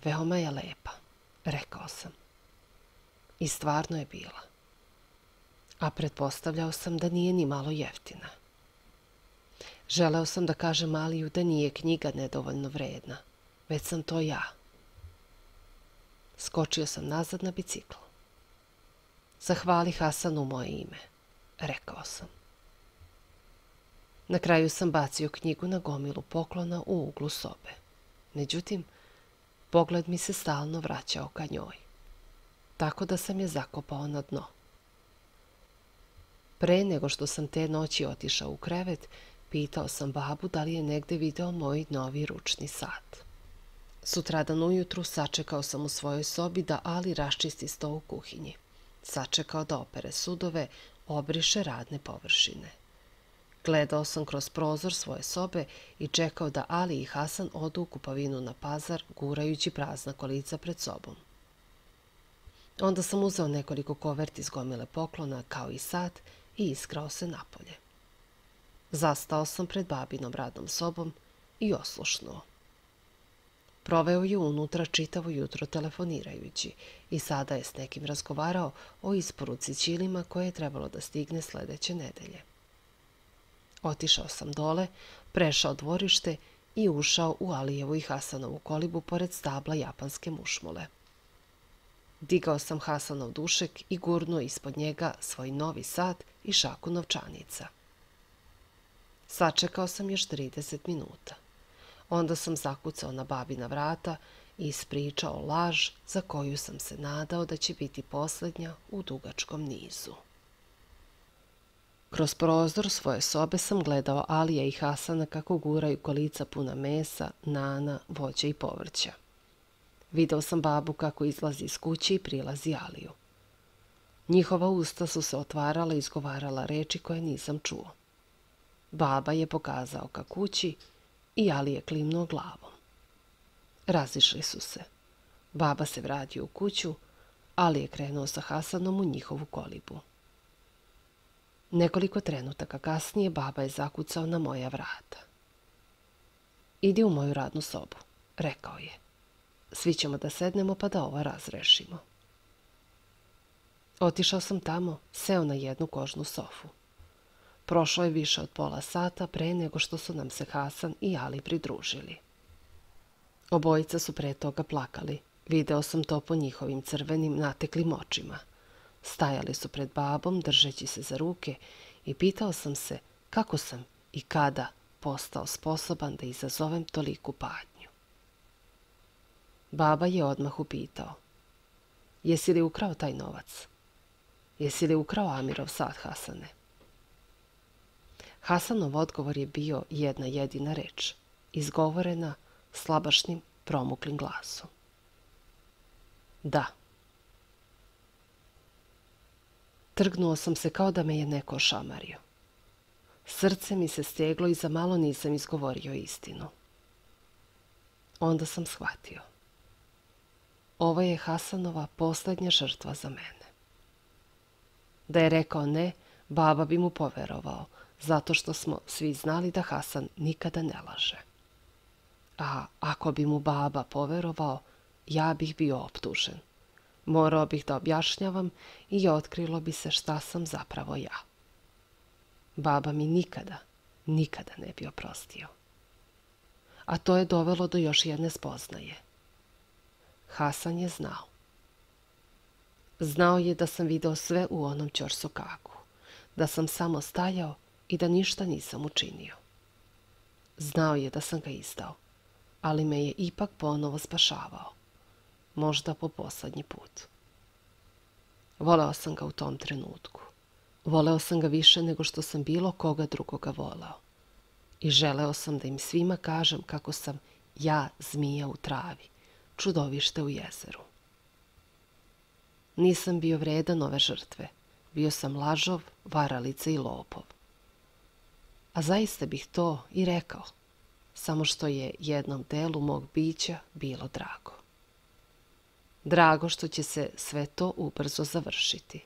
Veoma je lepa, rekao sam. I stvarno je bila. A pretpostavljao sam da nije ni malo jeftina. Želeo sam da kažem Aliju da nije knjiga nedovoljno vredna, već sam to ja. Skočio sam nazad na bicikl. Zahvali Hasanu moje ime, rekao sam. Na kraju sam bacio knjigu na gomilu poklona u uglu sobe. Međutim, pogled mi se stalno vraćao ka njoj, tako da sam je zakopao na dno. Pre nego što sam te noći otišao u krevet, pitao sam babu da li je negde video moj novi ručni sat. Sutradan ujutru sačekao sam u svojoj sobi da Ali raščisti sto u kuhinji. Sačekao da opere sudove, obriše radne površine. Gledao sam kroz prozor svoje sobe i čekao da Ali i Hasan odu u kupovinu na pazar, gurajući prazna kolica pred sobom. Onda sam uzeo nekoliko koverti iz gomile poklona, kao i sat, i iskrao se napolje. Zastao sam pred babinom radnom sobom i oslušnuo. Proveo je unutra čitavo jutro telefonirajući i sada je s nekim razgovarao o isporuci ćilima koje je trebalo da stigne sledeće nedelje. Otišao sam dole, prešao dvorište i ušao u Alijevu i Hasanovu kolibu pored stabla japanske mušmule. Digao sam Hasanov dušek i gurnuo ispod njega svoj novi sat i šaku novčanica. Sačekao sam još 30 minuta. Onda sam zakucao na babina vrata i ispričao laž za koju sam se nadao da će biti posljednja u dugačkom nizu. Kroz prozor svoje sobe sam gledao Alija i Hasana kako guraju kolica puna mesa, nana, voća i povrća. Video sam babu kako izlazi iz kuće i prilazi Aliju. Njihova usta su se otvarala i izgovarala reči koje nisam čuo. Baba je pokazao ka kući i Ali je klimnuo glavom. Razišli su se. Baba se vratio u kuću, Ali je krenuo sa Hasanom u njihovu kolibu. Nekoliko trenutaka kasnije baba je zakucao na moja vrata. Idi u moju radnu sobu, rekao je. Svi ćemo da sednemo pa da ovo razrešimo. Otišao sam tamo, seo na jednu kožnu sofu. Prošlo je više od pola sata pre nego što su nam se Hasan i Ali pridružili. Obojica su pre toga plakali. Video sam to po njihovim crvenim, nateklim očima. Stajali su pred babom, držeći se za ruke, i pitao sam se kako sam i kada postao sposoban da izazovem toliku patnju. Baba je odmah upitao. Jesi li ukrao taj novac? Jesi li ukrao Amirov sat, Hasane? Hasanov odgovor je bio jedna jedina reč, izgovorena slabašnim, promuklim glasom. Da. Trgnuo sam se kao da me je neko ošamario. Srce mi se steglo i za malo nisam izgovorio istinu. Onda sam shvatio. Ovo je Hasanova posljednja žrtva za mene. Da je rekao ne, baba bi mu poverovao, zato što smo svi znali da Hasan nikada ne laže. A ako bi mu baba poverovao, ja bih bio optužen. Morao bih da objašnjavam i otkrilo bi se šta sam zapravo ja. Baba mi nikada ne bi oprostio. A to je dovelo do još jedne spoznaje. Hasan je znao. Znao je da sam video sve u onom ćorsokaku, da sam samo stajao i da ništa nisam učinio. Znao je da sam ga izdao, ali me je ipak ponovo spašavao. Možda po poslednji put. Voleo sam ga u tom trenutku. Voleo sam ga više nego što sam bilo koga drugoga voleo. I želeo sam da im svima kažem kako sam ja zmija u travi, čudovište u jezeru. Nisam bio vredan ove žrtve. Bio sam lažov, varalica i lopov. A zaista bih to i rekao, samo što je jednom delu mog bića bilo drago. Drago što će se sve to ubrzo završiti.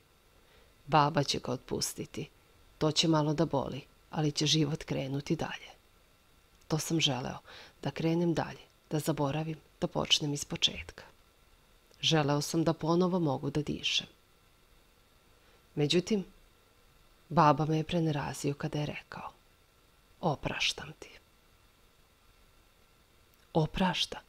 Baba će ga otpustiti. To će malo da boli, ali će život krenuti dalje. To sam želeo, da krenem dalje, da zaboravim, da počnem iz početka. Želeo sam da ponovo mogu da dišem. Međutim, baba me je prenerazio kada je rekao: opraštam ti. Oprašta.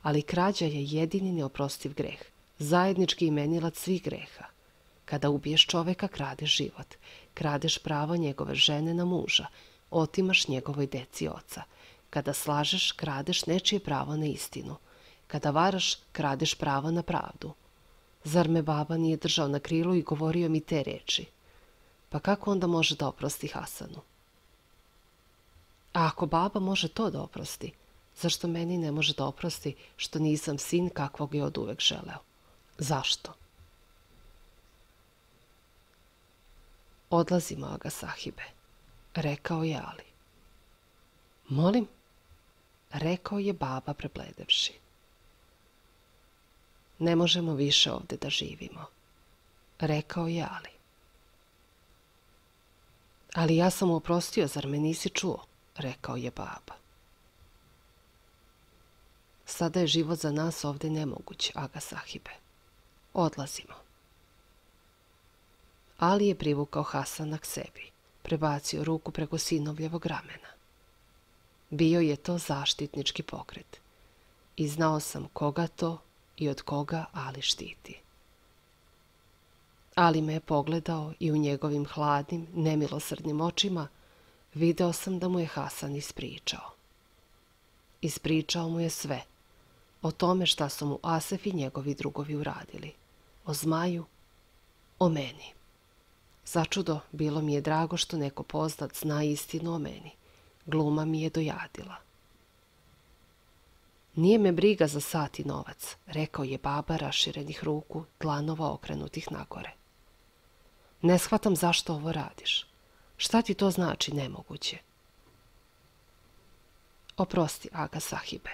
Ali krađa je jedini neoprostiv greh, zajednički imenilac svih greha. Kada ubiješ čoveka, kradeš život, kradeš pravo njegove žene na muža, otimaš njegovoj deci oca. Kada slažeš, kradeš nečije pravo na istinu. Kada varaš, kradeš pravo na pravdu. Zar me baba nije držao na krilu i govorio mi te reči? Pa kako onda može da oprosti Hasanu? A ako baba može to da oprosti, zašto meni ne može da oprosti što nisam sin kakvog je oduvek želeo? Zašto? Odlazimo, Aga sahibe, rekao je Ali. Molim? Rekao je baba prebledevši. Ne možemo više ovde da živimo, rekao je Ali. Ali ja sam oprostio, zar me nisi čuo? Rekao je baba. Sada je život za nas ovde nemoguć, Aga sahibe. Odlazimo. Ali je privukao Hasana k sebi, prebacio ruku preko sinovljevog ramena. Bio je to zaštitnički pokret i znao sam koga to i od koga Ali štiti. Ali me je pogledao i u njegovim hladnim, nemilosrdnim očima video sam da mu je Hasan ispričao. Ispričao mu je sve, o tome šta su mu Asef i njegovi drugovi uradili, o zmaju, o meni. Začudo, bilo mi je drago što neko poznat zna istinu o meni. Gluma mi je dojadila. Nije me briga za sat i novac, rekao je baba raširenih ruku, dlanova okrenutih nagore. Ne shvatam zašto ovo radiš. Šta ti to znači nemoguće? Oprosti, Aga sahibe,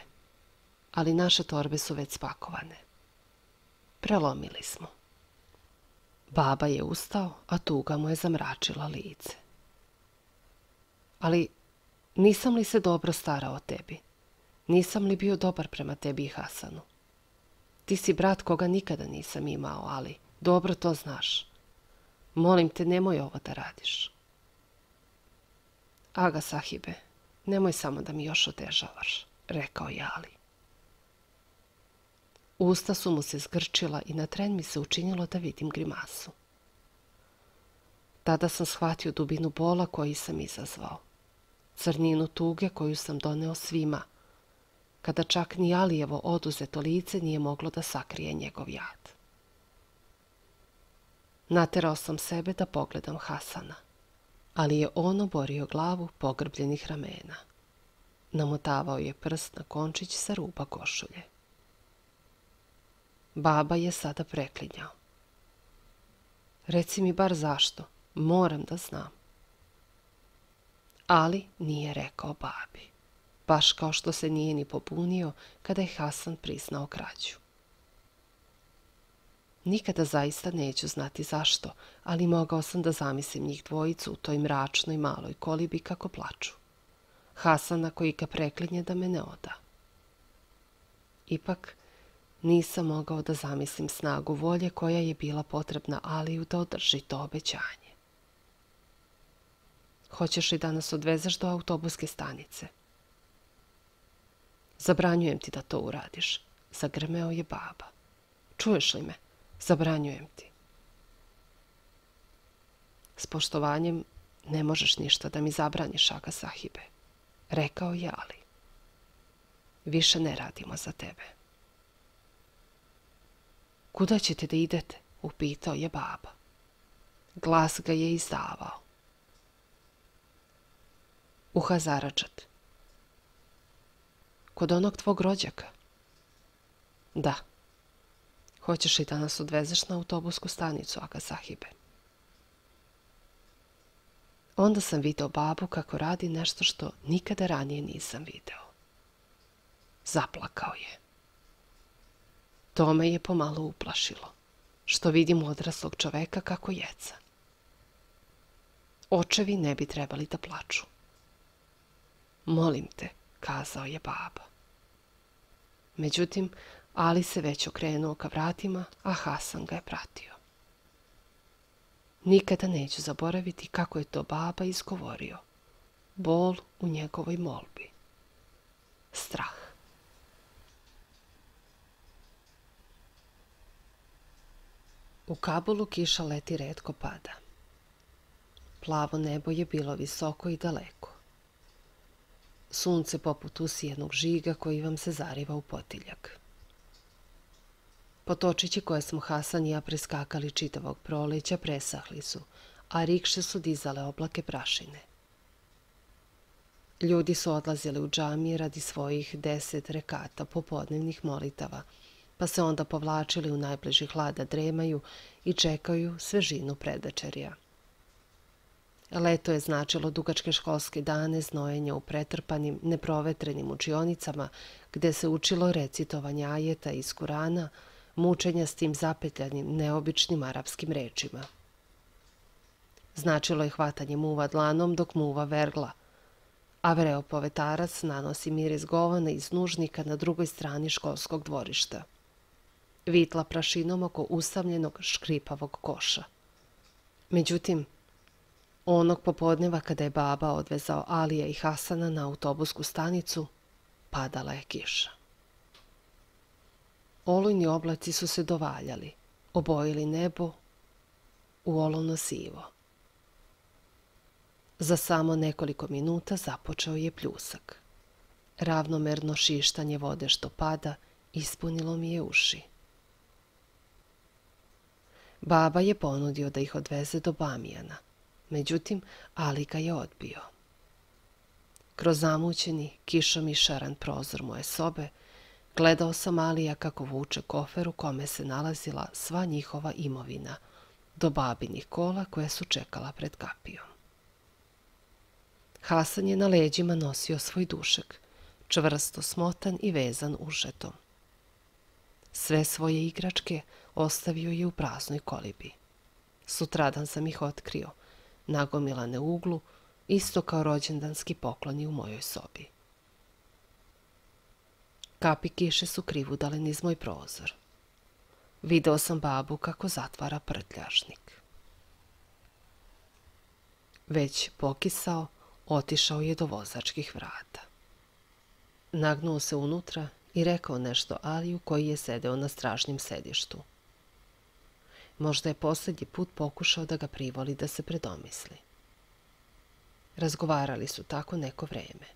ali naše torbe su već spakovane. Prelomili smo. Baba je ustao, a tuga mu je zamračila lice. Ali nisam li se dobro starao o tebi? Nisam li bio dobar prema tebi i Hasanu? Ti si brat koga nikada nisam imao, ali dobro to znaš. Molim te, nemoj ovo da radiš. Aga sahibe, nemoj samo da mi još otežavaš, rekao je Ali. Usta su mu se zgrčila i na tren mi se učinilo da vidim grimasu. Tada sam shvatio dubinu bola koji sam izazvao, crninu tuge koju sam doneo svima, kada čak ni Alijevo oduzeto lice nije moglo da sakrije njegov jad. Naterao sam sebe da pogledam Hasana, ali je on oborio glavu pogrbljenih ramena. Namotavao je prst na končić sa ruba košulje. Baba je sada preklinjao. Reci mi bar zašto, moram da znam. Ali nije rekao babi, baš kao što se nije ni pobunio kada je Hasan priznao krađu. Nikada zaista neću znati zašto, ali mogao sam da zamislim njih dvojicu u toj mračnoj maloj kolibi kako plaču. Hasana koji ga preklinje da me ne oda. Ipak, nisam mogao da zamislim snagu volje koja je bila potrebna Aliju da održi to obećanje. Hoćeš li da nas odvezeš do autobuske stanice? Zabranjujem ti da to uradiš, zagrmeo je baba. Čuješ li me? Zabranjujem ti. S poštovanjem ne možeš ništa da mi zabraniš, Aga sahibe, rekao je Ali. Više ne radimo za tebe. Kuda ćete da idete? Upitao je baba. Glas ga je izdavao. U Hazaračat. Kod onog tvog rođaka? Da. Hoćeš li da nas odvezeš na autobusku stanicu, Aga sahibe? Onda sam video babu kako radi nešto što nikada ranije nisam video. Zaplakao je. To me je pomalo uplašilo, što vidim odraslog čoveka kako jeca. Očevi ne bi trebali da plaču. Molim te, kazao je baba. Međutim, Ali se već okrenuo ka vratima, a Hasan ga je pratio. Nikada neću zaboraviti kako je to baba izgovorio. Bol u njegovoj molbi. Strah. U Kabulu kiša leti retko pada. Plavo nebo je bilo visoko i daleko. Sunce poput usijenog žiga koji vam se zariva u potiljak. Potočići koje smo Hasan i ja preskakali čitavog proleća presahli su, a rikše su dizale oblake prašine. Ljudi su odlazili u džamije radi svojih 10 rekata popodnevnih molitava, pa se onda povlačili u najbliži hlad da dremaju i čekaju svežinu predvečerja. Leto je značilo dugačke školske dane, znojenja u pretrpanim, neprovetrenim učionicama, gde se učilo recitovanje ajeta iz Kurana, mučenja s tim zapetljanim, neobičnim arapskim rečima. Značilo je hvatanje muva dlanom dok muva vergla, a vreo povetarac nanosi miris govana iz nužnika na drugoj strani školskog dvorišta. Vitla prašinom oko usamljenog škripavog koša. Međutim, onog popodneva kada je baba odvezao Alija i Hasana na autobusku stanicu, padala je kiša. Olujni oblaci su se dovaljali, obojili nebo u olovno sivo. Za samo nekoliko minuta započeo je pljusak. Ravnomerno šištanje vode što pada ispunilo mi je uši. Baba je ponudio da ih odveze do Bamijana, međutim Ali ga je odbio. Kroz zamućeni, kišom išaran prozor moje sobe gledao sam Alija kako vuče kofer u kome se nalazila sva njihova imovina, do babinih kola koja su čekala pred kapijom. Hasan je na leđima nosio svoj dušek, čvrsto smotan i vezan ušetom. Sve svoje igračke ostavio je u praznoj kolibi. Sutradan sam ih otkrio, nagomilane u uglu, isto kao rođendanski pokloni u mojoj sobi. Kapi kiše su krivudale niz moj prozor. Video sam babu kako zatvara prtljažnik. Već pokisao, otišao je do vozačkih vrata. Nagnuo se unutra i rekao nešto Aliju koji je sedeo na stražnjem sedištu. Možda je posljednji put pokušao da ga privoli da se predomisli. Razgovarali su tako neko vreme.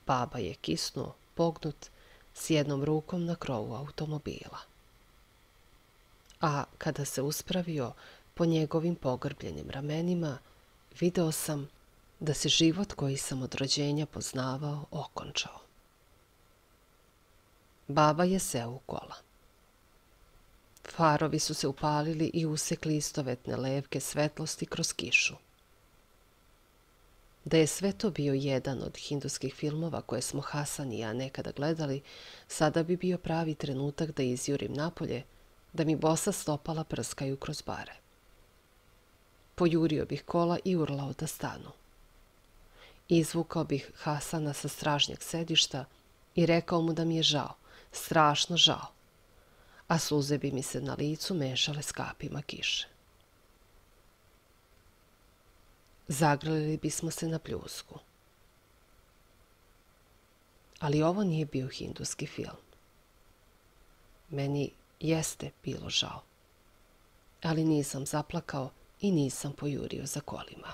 Baba je kisnuo, pognut, s jednom rukom na krovu automobila. A kada se uspravio po njegovim pogrbljenim ramenima, video sam da se život koji sam od rođenja poznavao okončao. Baba je seo u kola. Farovi su se upalili i usekli istovetne levke svetlosti kroz kišu. Da je sve to bio jedan od hinduskih filmova koje smo Hasan i ja nekada gledali, sada bi bio pravi trenutak da izjurim napolje, da mi bosa stopala prskaju kroz bare. Pojurio bih kola i urlao da stanu. Izvukao bih Hasana sa stražnjeg sedišta i rekao mu da mi je žao, strašno žao, a suze bi mi se na licu mešale s kapima kiše. Zagrlili bismo se na pljusku. Ali ovo nije bio hinduski film. Meni jeste bilo žao, ali nisam zaplakao i nisam pojurio za kolima.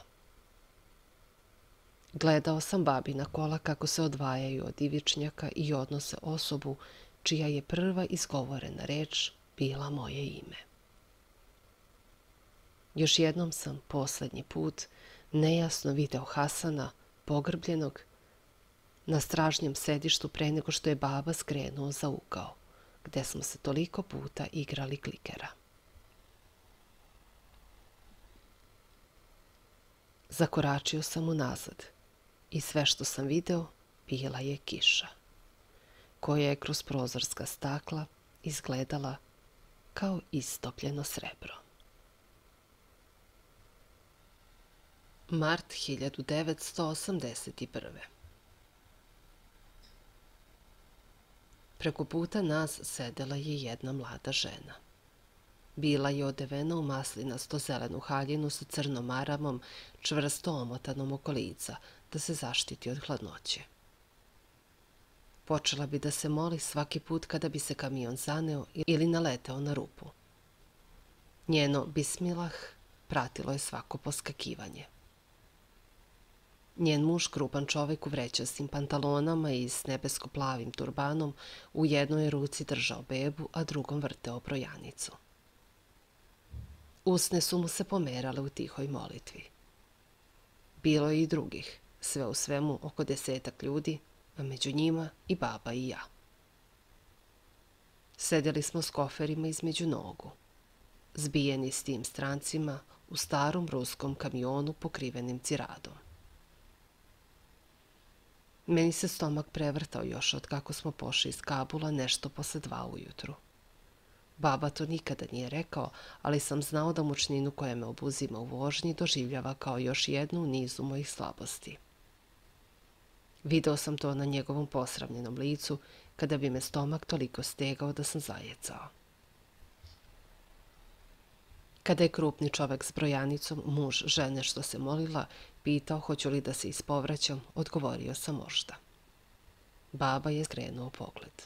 Gledao sam babina kola kako se odvajaju od ivičnjaka i odnose osobu čija je prva izgovorena reč bila moje ime. Još jednom sam posljednji put nejasno video Hasana, pogrbljenog, na stražnjem sedištu pre nego što je baba skrenuo za ugao, gde smo se toliko puta igrali klikera. Zakoračio sam unazad i sve što sam video bila je kiša, koja je kroz prozorska stakla izgledala kao istopljeno srebro. Mart 1981. Preko puta nas sedela je jedna mlada žena. Bila je odevena u maslinasto zelenu haljinu sa crnom maramom, čvrsto omotanom oko lica, da se zaštiti od hladnoće. Počela bi da se moli svaki put kada bi se kamion zaneo ili naleteo na rupu. Njeno bismilah pratilo je svako poskakivanje. Njen muž, krupan čovek u vrećastim pantalonama i s nebesko-plavim turbanom, u jednoj ruci držao bebu, a drugom vrteo brojanicu. Usne su mu se pomerale u tihoj molitvi. Bilo je i drugih, sve u svemu oko 10 ljudi, a među njima i baba i ja. Sedeli smo s koferima između nogu, zbijeni s tim strancima u starom ruskom kamionu pokrivenim ciradom. Meni se stomak prevrtao još od kako smo pošli iz Kabula nešto posle 2 ujutru. Baba to nikada nije rekao, ali sam znao da mučninu koja me obuzima u vožnji doživljava kao još jednu u nizu mojih slabosti. Video sam to na njegovom posravljenom licu, kada bi me stomak toliko stegao da sam zajecao. Kada je krupni čovek s brojanicom, muž žene što se molila, pitao hoću li da se ispovraćam, odgovorio sam možda. Baba je skrenuo pogled.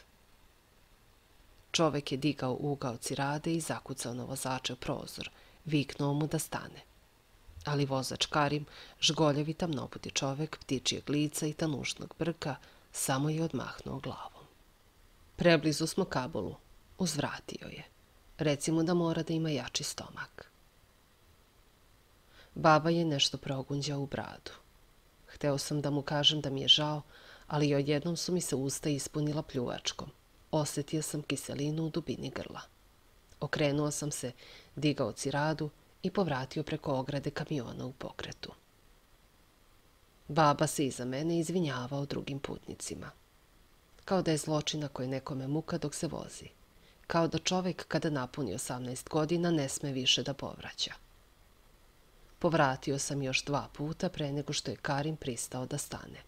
Čovek je digao ugao cirade i zakucao na vozačev prozor, viknuo mu da stane. Ali vozač Karim, žgoljevi tamnoputi čovek, ptičijeg lica i tanušnog brka, samo je odmahnuo glavom. Preblizu smo Kabulu, uzvratio je. Reci mu da mora da ima jači stomak. Baba je nešto progunđao u bradu. Hteo sam da mu kažem da mi je žao, ali odjednom su mi se usta ispunila pljuvačkom. Osetio sam kiselinu u dubini grla. Okrenuo sam se, digao ciradu i povratio preko ograde kamiona u pokretu. Baba se iza mene izvinjavao drugim putnicima. Kao da je zločina koje nekome muka dok se vozi. Kao da čovek kada napuni 18 godina ne sme više da povraća. Povratio sam još 2 puta pre nego što je Karim pristao da stane.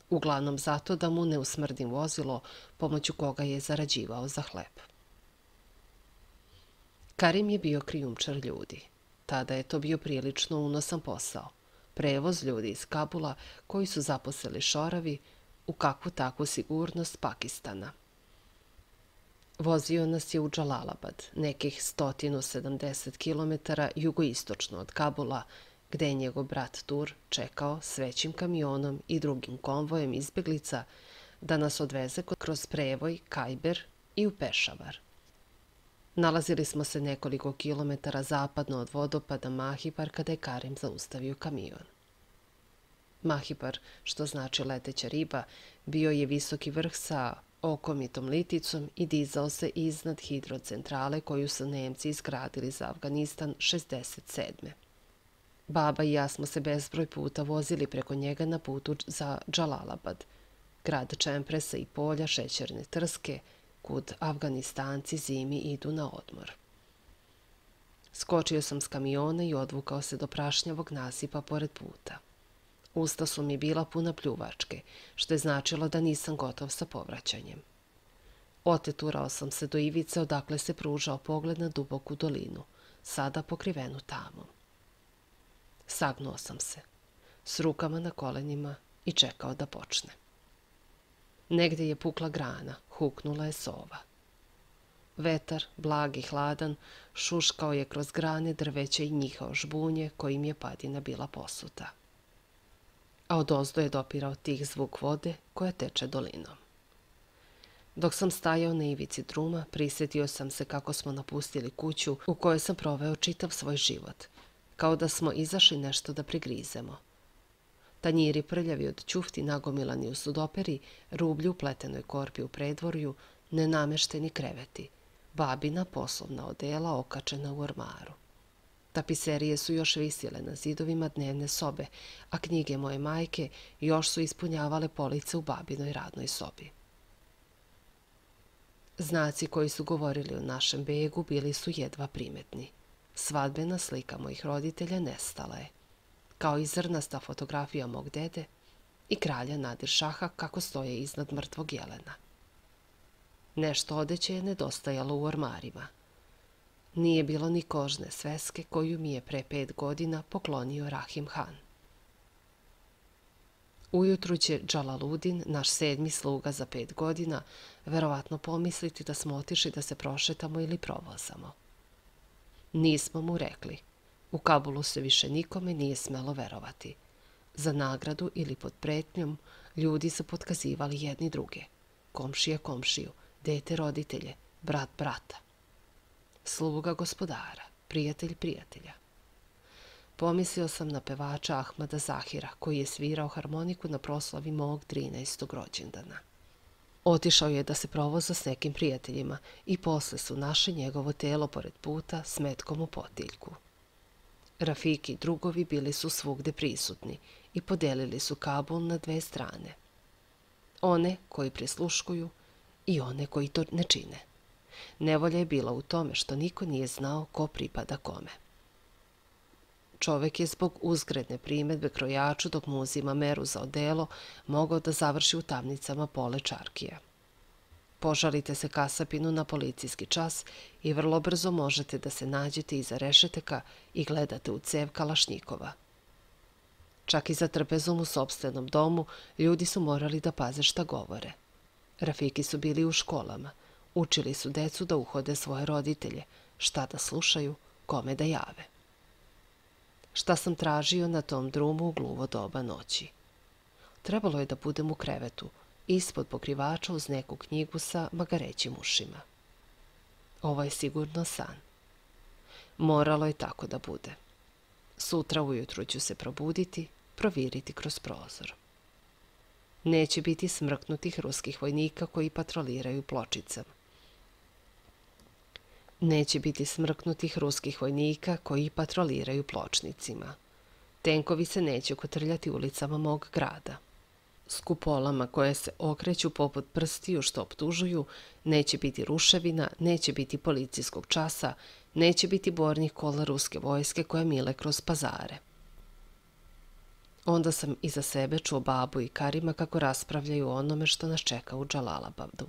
Uglavnom zato da mu ne usmrdim vozilo pomoću koga je zarađivao za hleb. Karim je bio krijumčar ljudi. Tada je to bio prilično unosan posao. Prevoz ljudi iz Kabula koji su zaposeli šoravi u kakvu takvu sigurnost Pakistana. Vozio nas je u Džalalabad, nekih 170 km jugoistočno od Kabula, gde je njegov brat Tur čekao s većim kamionom i drugim konvojem izbeglica da nas odveze kroz prevoj Kajber i u Pešavar. Nalazili smo se nekoliko kilometara zapadno od vodopada Mahipar kada je Karim zaustavio kamion. Mahipar, što znači leteća riba, bio je visoki vrh sa okomitom liticom i dizao se iznad hidrocentrale koju su Nemci izgradili za Afganistan 67. Baba i ja smo se bezbroj puta vozili preko njega na putu za Džalalabad, grad čempresa i polja šećerne trske, kud Afganistanci zimi idu na odmor. Skočio sam s kamiona i odvukao se do prašnjavog nasipa pored puta. Usta su mi bila puna pljuvačke, što je značilo da nisam gotov sa povraćanjem. Oteturao sam se do ivice odakle se pružao pogled na duboku dolinu, sada pokrivenu tamom. Sagnuo sam se, s rukama na kolenima i čekao da počne. Negde je pukla grana, huknula je sova. Vetar, blag i hladan, šuškao je kroz grane drveća i njihao žbunje kojim je padina bila posuta. A odozdo je dopirao tih zvuk vode koja teče dolinom. Dok sam stajao na ivici druma, prisetio sam se kako smo napustili kuću u kojoj sam proveo čitav svoj život, kao da smo izašli nešto da prigrizemo. Tanjiri prljavi od ćufti nagomilani u sudoperi, rublju u pletenoj korpi u predvorju, nenamešteni kreveti, babina poslovna odela okačena u ormaru. Tapiserije su još visjele na zidovima dnevne sobe, a knjige moje majke još su ispunjavale police u babinoj radnoj sobi. Znaci koji su govorili o našem begu bili su jedva primetni. Svadbena slika mojih roditelja nestala je, kao i zrnasta fotografija mog dede i kralja Nadir Šaha kako stoje iznad mrtvog jelena. Nešto odeće je nedostajalo u ormarima. Nije bilo ni kožne sveske koju mi je pre 5 godina poklonio Rahim Han. Ujutru će Džalaludin, naš 7. sluga za 5 godina, verovatno pomisliti da smo otišli da se prošetamo ili provozamo. Nismo mu rekli. U Kabulu se više nikome nije smelo verovati. Za nagradu ili pod pretnjom ljudi su potkazivali jedni druge. Komšija komšiju, dete roditelje, brat brata. Sluga gospodara, prijatelj prijatelja. Pomislio sam na pevača Ahmada Zahira, koji je svirao harmoniku na proslavi mog 13. rođendana. Otišao je da se provoza s nekim prijateljima i posle su našli njegovo telo pored puta s metkom u potiljku. Rafiki i drugovi bili su svugde prisutni i podelili su Kabul na 2 strane. One koji prisluškuju i one koji to ne čine. Nevolja je bila u tome što niko nije znao ko pripada kome. Čovek je zbog uzgredne primedbe krojaču dok mu uzima meru za odelo mogao da završi u tamnicama pole čarkija. Požalite se kasapinu na policijski čas i vrlo brzo možete da se nađete iza rešetaka i gledate u cev kalašnjikova. Čak i za trpezom u sopstvenom domu ljudi su morali da paze šta govore. Rafiki su bili u školama, učili su decu da uhode svoje roditelje, šta da slušaju, kome da jave. Šta sam tražio na tom drumu u gluvo doba noći? Trebalo je da budem u krevetu, ispod pokrivača uz neku knjigu sa magarećim ušima. Ovo je sigurno san. Moralo je tako da bude. Sutra ujutru ću se probuditi, proviriti kroz prozor. Neće biti smrknutih ruskih vojnika koji patroliraju pločicama. Neće biti smrknutih ruskih vojnika koji patroliraju pločnicima. Tenkovi se neće kotrljati ulicama mog grada. S kupolama koje se okreću poput prstiju što optužuju, neće biti ruševina, neće biti policijskog časa, neće biti bornih kola ruske vojske koje mile kroz pazare. Onda sam iza sebe čuo babu i Karima kako raspravljaju o onome što nas čeka u Džalalabadu.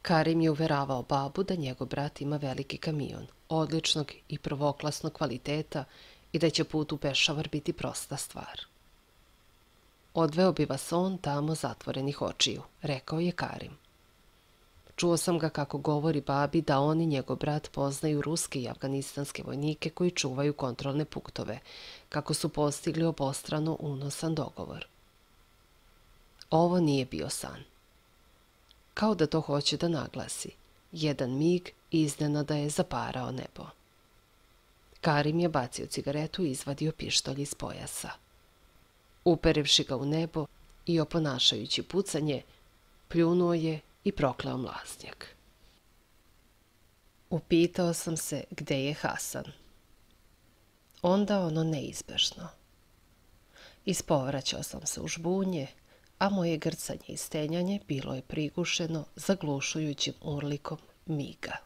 Karim je uveravao babu da njegov brat ima veliki kamion, odličnog i prvoklasnog kvaliteta i da će put u Pešavar biti prosta stvar. Odveo bi vas on tamo zatvorenih očiju, rekao je Karim. Čuo sam ga kako govori babi da on i njegov brat poznaju ruske i afganistanske vojnike koji čuvaju kontrolne punktove, kako su postigli obostrano unosan dogovor. Ovo nije bio san. Kao da to hoće da naglasi. Jedan mig iznenada je zaparao nebo. Karim je bacio cigaretu i izvadio pištolj iz pojasa. Uperivši ga u nebo i oponašajući pucanje, pljunuo je i prokleo mlaznjak. Upitao sam se gde je Hasan. Onda ono neizbežno. Ispovraćao sam se u žbunje, a moje grcanje i stenjanje bilo je prigušeno zaglušujućim urlikom miga.